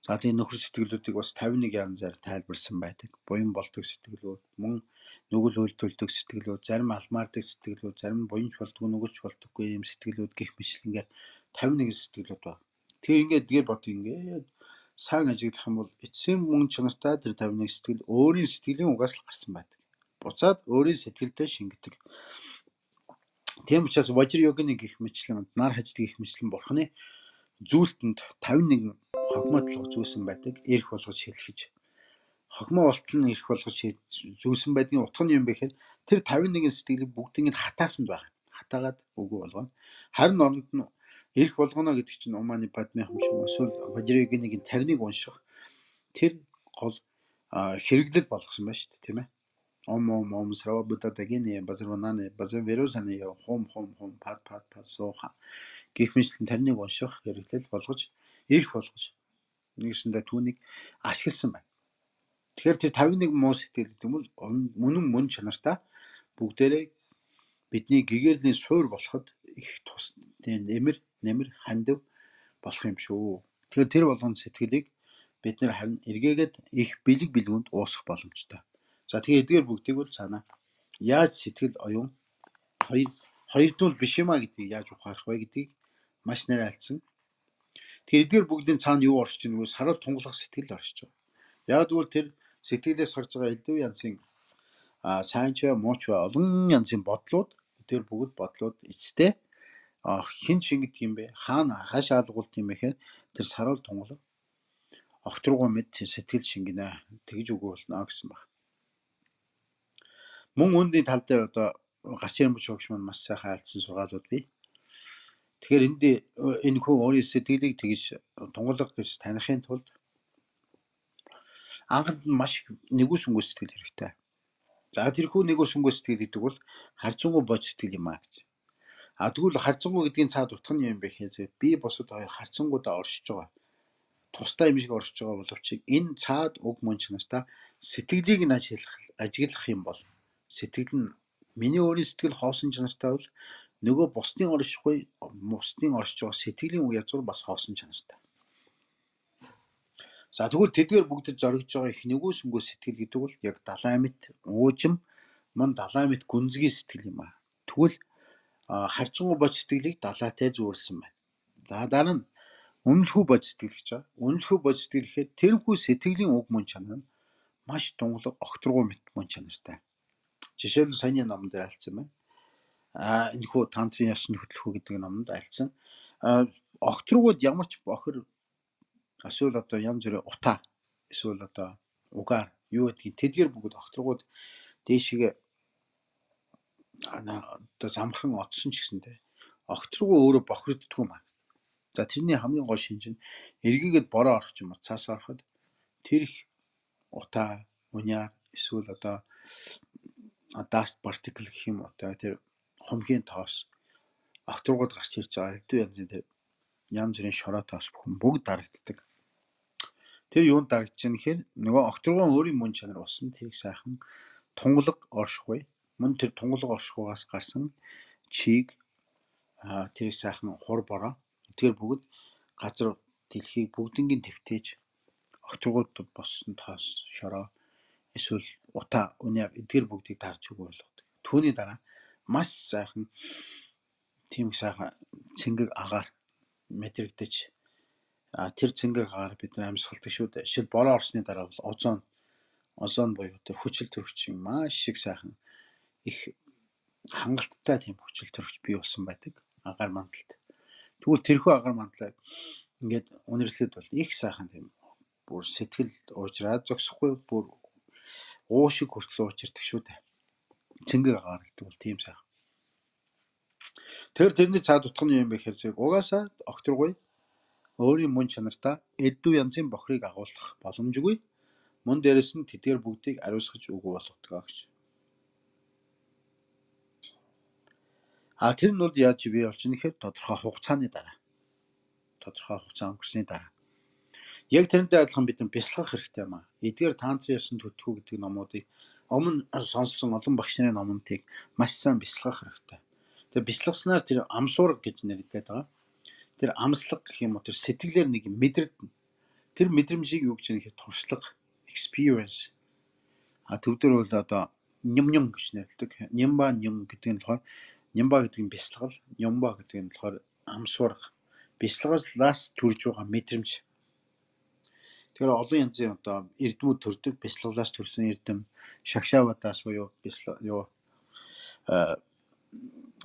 За тийм нөхөр сэтгэлүүдийг бас тавин нэг янзаар тайлбарласан байдаг. Буян болдог сэтгэлүүд, мөн нүгэл үйлдвэрлэдэг сэтгэлүүд, зарим алмаардаг сэтгэлүүд, зарим буянч болдог, нүгэлж болдоггүй юм сэтгэлүүд гэх мэтлэнгээр тавин нэг сэтгэлүүд байна. Тэр ингээд дгээр бод ингээд сайн ажиглах юм бол эцсийн мөн чанартай тэр тавин нэг сэтгэл өөрийн сэтгэлийн угаас л гарсан байдаг. Буцаад өөрийн сэтгэлдээ шингэдэг. Тийм учраас важир йогины гих мэтлэн нар хаждаг гих мэтлэн бурхны зүйлтэнд тавин нэг хогмоодлого зүүсэн байдаг. Ирэх болгож хэлхэж. Хогмоо болтол нь ирэх болгож зүүсэн байдгийн утга нь юм бэ гэхээр тэр тавин нэгэн сэтгэлийг бүгдийг нь хатаасанд байна. Хатаагаад үгүй болгоно. Харин оронд нь ирэх болгоно гэдэг чинь Уманы Падме хам шиг эсвэл важир йогины тарныг унших тэр гол хэрэглэл болгосон байна шүү дээ, тийм ээ. Ом ом ом срава бутатагини базарвананы базар веросаны хом хом хом пад пад пад сууха гэх мэтлэн тарныг унших хэрэглэл болгож ирэх болгож нэгсэндээ түүнийг ашигласан байна. Тэгэхээр тэр тавин нэг муу сэтгэл гэдэг нь мөн мөн чанартай бүгдээрээ бидний гэгэрлийн суур болоход их тус нэмэр нэмэр хандив болох юм шүү. Тэгэхээр тэр болгон сэтгэлийг бид нэр харин эргээгээд их бэлэг бэлгүүнд уусгах боломжтой. За тэгээ эдгээр бүгдийг бол цаана яаж сэтгэл оюун хоёр хоёрдуул биш юмаа гэдгийг яаж ухаарах вэ гэдгийг маш нэр альцсан. Тэгэхээр эдгээр бүгдийн цаана юу оршиж байгаа вэ? Саруул тунгалах сэтгэл оршиж байгаа. Яг тэгвэл тэр сэтгэлээс гарч байгаа элдв янзын а сайн ч бай, муу ч бай олон янзын бодлууд эдгээр бүгд бодлууд эцтэй хин шингэдэг юм бэ? Хаана хаш алгуулт юм бэ гэхээр тэр саруул тунгалах огтруугай мэд сэтгэл шингэнэ тэгж үгүй болно гэсэн баг. Мөн үүний тал дээр одоо гарч ирэн бүжигч маань маш сайхан айлцсан сургаалууд бий. Тэгэхээр энд энэ хүн өөрийн сэтгэлийг тэгж тунгалах гэж таних тулд анханд нь маш нэгүсэнгүй сэтгэл хэрэгтэй. За тэрхүү нэгүсэнгүй сэтгэл гэдэг бол харцангуй бод сэтгэл юм аа гэж. А тэгвэл харцангуй гэдгийн цаад утга нь юм бэ гэхээр би босод хоёр харцангуудаа оршиж байгаа. Тусдаа юм шиг оршиж байгаа боловч энэ цаад уг мөн чанартай сэтгэлийг нь ажиглах ажиглах юм бол сэтгэл нь миний өөрийн сэтгэл хоосон чанартай бол нөгөө бусдын оршихгүй бусдын оршиж байгаа сэтгэлийн үе язгуур бас хоосон чанартай. За тэгвэл тэдгээр бүгдэд зоригдож байгаа их нэгүсэнгүй сэтгэл гэдэг бол яг далайн мэт уужим мөн далайн мэт гүнзгий сэтгэл юм аа. Тэгвэл харцангуй бод сэтгэлийг далайтай зөөрлсөн байна. За дараа нь үнэлэхүй бод сэтгэл гэж байгаа. Үнэлэхүй бод сэтгэл гэхэд тэрхүү сэтгэлийн уг мөн чанар нь маш тунгалаг огтруугай мэт мөн чанартай. Жишээлбэл саяны номон дээр альцсан байна. А энэ хүү тантрын ёсны хөтөлбөр гэдэг номонд альцсан. Огтруугууд ямар ч бохир эсвэл одоо янз бүрийн утаа эсвэл одоо угаар юу гэдгийг тэдгээр бүгд огтруугууд дээшгээ ана одоо замхан одсон ч гэсэндээ огтруугуу өөрөө бохирддгүй маа. За тэрний хамгийн гол шинж нь эргээгээд бороо орох юм уу цаас ороход тэр их утаа, уняар эсвэл одоо dust particle гэх юм уу тэр хумхийн тоос огторгууд гарч ирж байгаа хэдэн янзын тэр янз бүрийн шороо тоос бүхэн бүгд дарагддаг. Тэр юунд дарагдж байгаа нэхэр нөгөө огторгон өөрийн мөн чанар болсон тэрийг сайхан тунгалаг оршихуй. Мөн тэр тунгалаг оршихугаас гарсан чийг тэрийг сайхан хур бороо. Тэр бүгд газар дэлхийг бүгднгийн твтээж огторгууд боссон тоос шороо эсвэл утаа уняар эдгээр бүгдийг дарж өгөө болгодог. Түүний дараа маш сайхан тийм сайхан цэнгэг агаар мэдрэгдэж тэр цэнгэг агаар бид нар амьсгалдаг шүү дээ. Шил бороо орсны дараа бол озон озон буюу тэр хүчил төрөгч маш шиг сайхан их хангалттай тийм хүчил төрөгч бий болсон байдаг агаар мандалд. Тэгвэл тэрхүү агаар мандлаа ингээд үнэрлэхэд бол их сайхан тийм бүр сэтгэл уужраад зогсохгүй бүр уушиг хүртэл уучирдаг шүү дээ. Цэнгэг агаар гэдэг бол тийм сайхан. Тэр тэрний цаад утга нь юм бэ гэхээр зэрэг угаасаа огторгуй өөрийн мөн чанартаа эддүү янзын бохрыг агуулах боломжгүй. Мөн дээрэс нь тэдгээр бүгдийг ариусгаж өгөө болгодог гэж. А тэр нь бол яаж бий болж байгаа нэхэр тодорхой хугацааны дараа. Тодорхой хугацаа өнгөрсний дараа. Яг тэрнтэй адилхан бид нар бясалгах хэрэгтэй юм аа. Эдгээр тантрын ёсон төтгөө гэдэг номуудыг өмнө сонссон олон багш нарын номонтыг маш сайн бясалгах хэрэгтэй. Тэгээ бясалгаснаар тэр амсуурга гэж нэрлэдэг байгаа. Тэр амслаг гэх юм уу тэр сэтгэлээр нэг мэдрэгдэнэ. Тэр мэдрэмжийг юу гэж нэхэ туршлага experience. А төвдөр бол одоо ням ням гэж нэрлэдэг. Нямба ням гэдэг нь болохоор нямба гэдэг нь бясалгал, нямба гэдэг нь болохоор амсуурга. Бясалгалаас төрж байгаа мэдрэмж. Тэгэхээр олон янзын одоо эрдэмүүд төрдөг, бясалгалаас төрсэн эрдэм, шагшаавадаас буюу бясалгал юу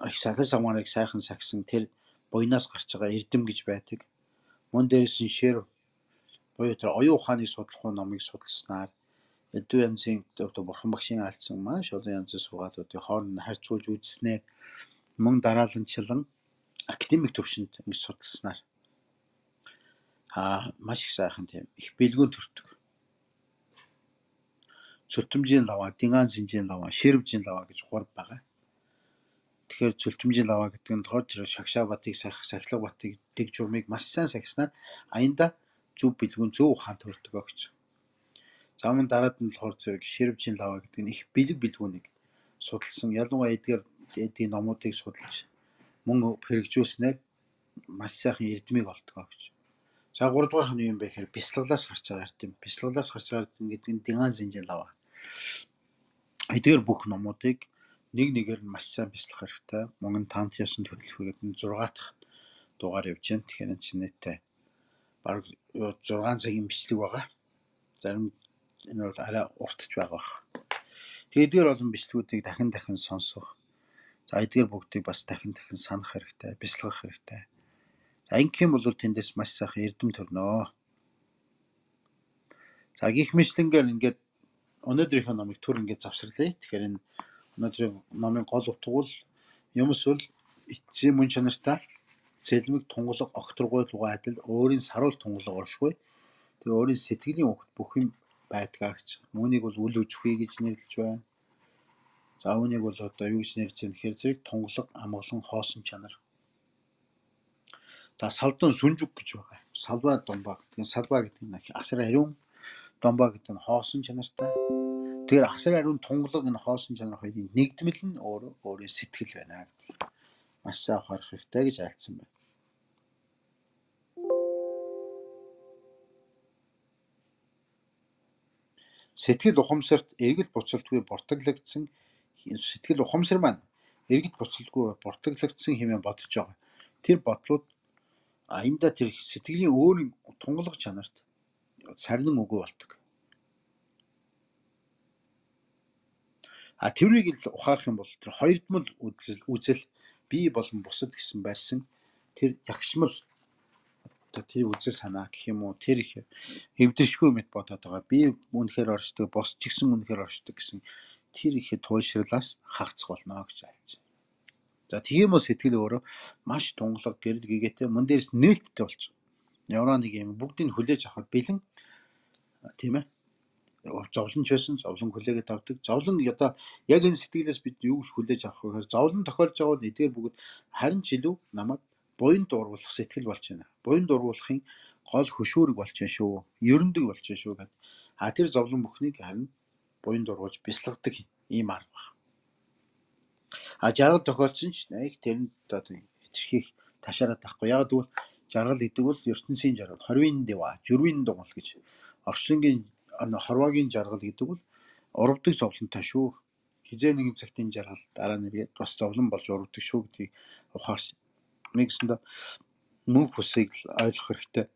их сахис амаарыг сайхан сагсан тэр буйнаас гарч байгаа эрдэм гэж байдаг. Мөн дээрээс нь шэр буюу тэр оюун ухааныг судлах номыг судалснаар элдв янзын одоо бурхан багшийн альцсан маш олон янзын сургаалуудыг хооронд нь харьцуулж үзснээр мөн дарааланчлан академик төвшөнд ингэж судалснаар аа маш их сайхан тийм их бэлгүүн төрдөг. Цөлтөмжийн лава, дингаан зинжийн лава, ширвжийн лава гэж гурав байгаа. Тэгэхээр цөлтөмжийн лава гэдэг нь тохиолж шагшаа батыг сахих, сахилга батыг дэг журмыг маш сайн сахиснаар аянда зөв бэлгүүн зөв ухаан төрдөг гэж. За мөн дараад нь болохоор зэрэг ширвжийн лава гэдэг нь их бэлэг бэлгүүнийг судалсан. Ялангуяа эдгээр эдийн номуудыг судалж мөн хэрэгжүүлснээр маш сайхан эрдмийг олдгоо гэж. За гурав дахь нь юм бэ гэхээр бясалгалаас гарч байгаа эрдэм. Бясалгалаас гарч байгаа эрдэм гэдэг нь дингаан зинжийн лава. Эдгээр бүх номуудыг нэг нэгээр нь маш сайн бясалгах хэрэгтэй. Мөн тант ясан төлөвлөгөөд нь зургаа дахь дугаар явж байна. Тэгэхээр энэ чинь нийтээ бараг зургаан цагийн бичлэг байгаа. Зарим энэ бол арай уртж байгаа бах. Тэгээд эдгээр олон бичлэгүүдийг дахин дахин сонсох. За эдгээр бүгдийг бас дахин дахин санах хэрэгтэй, бясалгах хэрэгтэй. За ингэх юм бол тэндээс маш сайхан эрдэм төрнөө. За гих мэтлэнгээр ингээд өнөөдрийнхөө номыг түр ингээд завсарлаа. Тэгэхээр энэ өнөөдрийн номын гол утга бол юмс бол эцсийн мөн чанартай цэлмэг тунгалаг огторгой лугаа адил өөрийн саруул тунгалаг оршгүй. Тэр өөрийн сэтгэлийн өгт бүх юм байдгаагч. Үүнийг бол үл үзэхүй гэж нэрлэж байна. За үүнийг бол одоо юу гэж нэрлэж байна гэхээр зэрэг тунгалаг амгалан хоосон чанар. За салдан сүнжүг гэж байгаа. Салбаа домбаа гэдэг нь салбаа гэдэг нь асар ариун, домбаа гэдэг нь хоосон чанартай. Тэгэхээр асар ариун тунгалаг энэ хоосон чанар хоёрын нэгдмэл нь өөрөө өөрийн сэтгэл байна гэдэг. Маш сайн ухаарах хэрэгтэй гэж айлцсан байна. Сэтгэл ухамсарт эргэл буцалтгүй буртаглагдсан сэтгэл ухамсар маань эргэл буцалтгүй буртаглагдсан хэмээн бодож байгаа. Тэр бодлууд аянда тэр сэтгэлийн өөрийн тунгалаг чанарт сарнин өгөө болдог. А тэрийг л ухаарах юм бол тэр хоёрдмол үзэл бие болон бусад гэсэн барьсан тэр ягшмал одоо тэр үзэл санаа гэх юм уу тэр их эвдэршгүй мэт бодоод байгаа. Би үнэхээр оршдог, бос ч гэсэн үнэхээр оршдог гэсэн тэр их туйлшрлаас хагацх болно гэж айлж. За тийм үү сэтгэл өөрөө маш тунгалаг гэрэл гэгээтэй мөн дээрс нээлттэй болчих. Яваа нэг юм бүгдийг хүлээж авахд бэлэн тийм ээ. Зовлонч байсан, зовлон хүлээгээд авдаг. Зовлон одоо яг энэ сэтгэлээс бид юу гэж хүлээж авах вэ гэхээр зовлон тохиолж байгаа бол эдгээр бүгд харин ч илүү намайг буянд дургуулах сэтгэл болж байна. Буянд дургуулахын гол хөшүүрэг болж байна шүү. Ерөндөг болж байна шүү гэдэг. А тэр зовлон бүхнийг харин буянд дургуулж бясалгадаг ийм арга байна. А жаргал тохиолдсон ч нэг тэрэнд одоо хэтэрхийх ташаараад байхгүй. Яг тэгвэл жаргал гэдэг бол ертөнцийн жаргал, хорвын дэва, журвын дугал гэж орчлонгийн хорвоогийн жаргал гэдэг бол урвдаг зовлонтой шүү. Хизээ нэгэн цагтын жаргал дараа нэргээд бас зовлон болж урвдаг шүү гэдгийг ухаарч нэгсэндээ мөнх бусыг ойлгох хэрэгтэй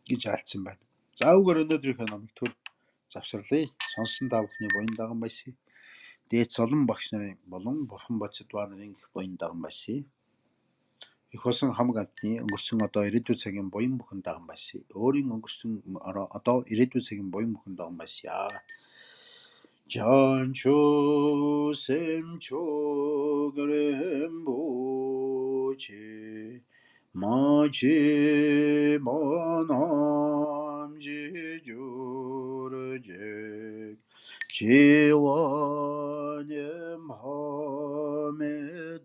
гэж альцсан байна. За үгээр өнөөдрийнхөө номыг төр завсарлая. Сонсон та бүхний буян даган байсаа. Дээд Солон багш нарын болон Бурхан Бодсодва нарын их буян даган байсаа. Их болсон хамаг амтны өнгөрсөн одоо ирээдүйн цагийн буян бүхэн даган байсаа. Өөрийн өнгөрсөн одоо ирээдүйн цагийн буян бүхэн даган байсаа. Жанчо семчо грембочи 마치 모남지 주르제 지원의 마음에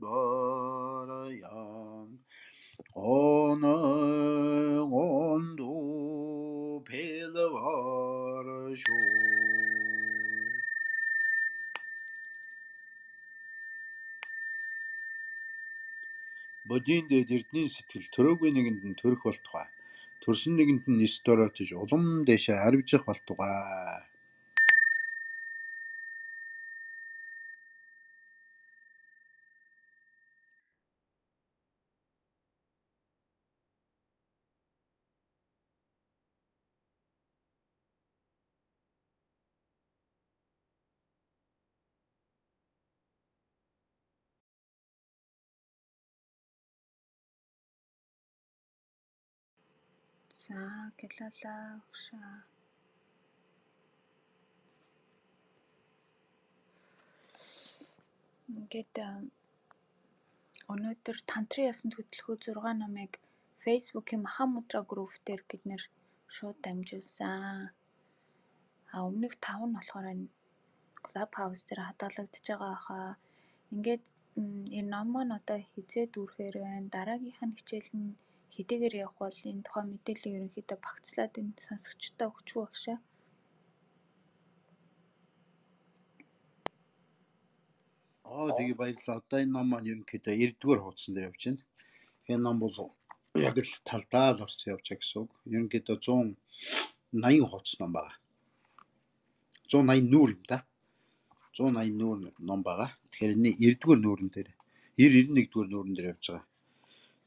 바라양 오늘 온도 빌바라쇼 Бодийн дээд эрдний сэтгэл төрөөгүй нэгэнд нь төрөх болтугай. Төрсөн нэгэнд нь нэс дороотож улам дэшээ харвжих болтугай. За гэлэлээ өгшөө. Ингээд өнөөдөр тантрын ясанд хөтлөхөө зургаан номыг Facebook-ийн Махамудра групп дээр бид нэр шууд дамжуулсан. А өмнөх тав нь болохоор Clubhouse дээр хадгалагдчихж байгаа хаа. Ингээд энэ ном маань одоо хизээ дүүрхээр байна. Дараагийнх нь хичээл нь хэдийгээр явах бол энэ тухайн мэдээллийг ерөнхийдөө багцлаад энэ сонсогчдод өгчихөө багшаа. Аа тэгээ баярлалаа. Одоо энэ ном маань ерөнхийдөө эрдүгээр хуудсан дээр явж байна. Энэ ном бол яг л талдаа л орсон явж байгаа гэсэн үг. Ерөнхийдөө зуун найман хуудас ном байгаа. зуун найман нүүр юм да. зуун найман нүүр ном байгаа. Тэгэхээр энэ эрдүгээр нүүрэн дээр девяносто нэгдүгээр нүүрэн дээр явж байгаа.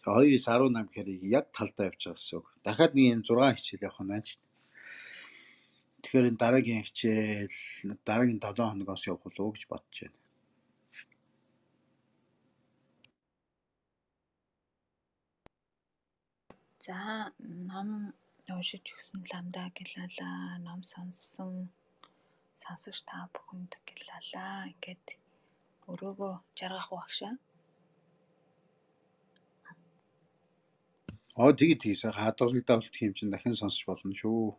Тэгээ хоёроос арван нам гэхээр яг талдаа явж байгаа гэсэн үг. Дахиад нэг юм зургаан хичээл явах нь байна шүү дээ. Тэгэхээр энэ дараагийн хичээл дараагийн долоо хоногоос явах болов уу гэж бодож байна. За ном уншиж өгсөн ламдаа гэлалаа, ном сонссон сонсогч та бүхэнд гэлалаа. Ингээд өрөөгөө жаргах багшаа. Аа тэгээд тийм сайхан хадгалагдаад тийм чинь дахин сонсч болно шүү.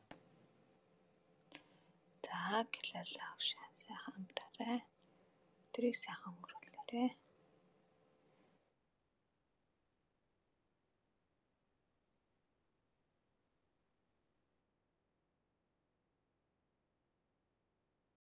За гэлалаа багшаа. Сайхан амраарай. Тэрийг сайхан өнгөрүүлээрэй.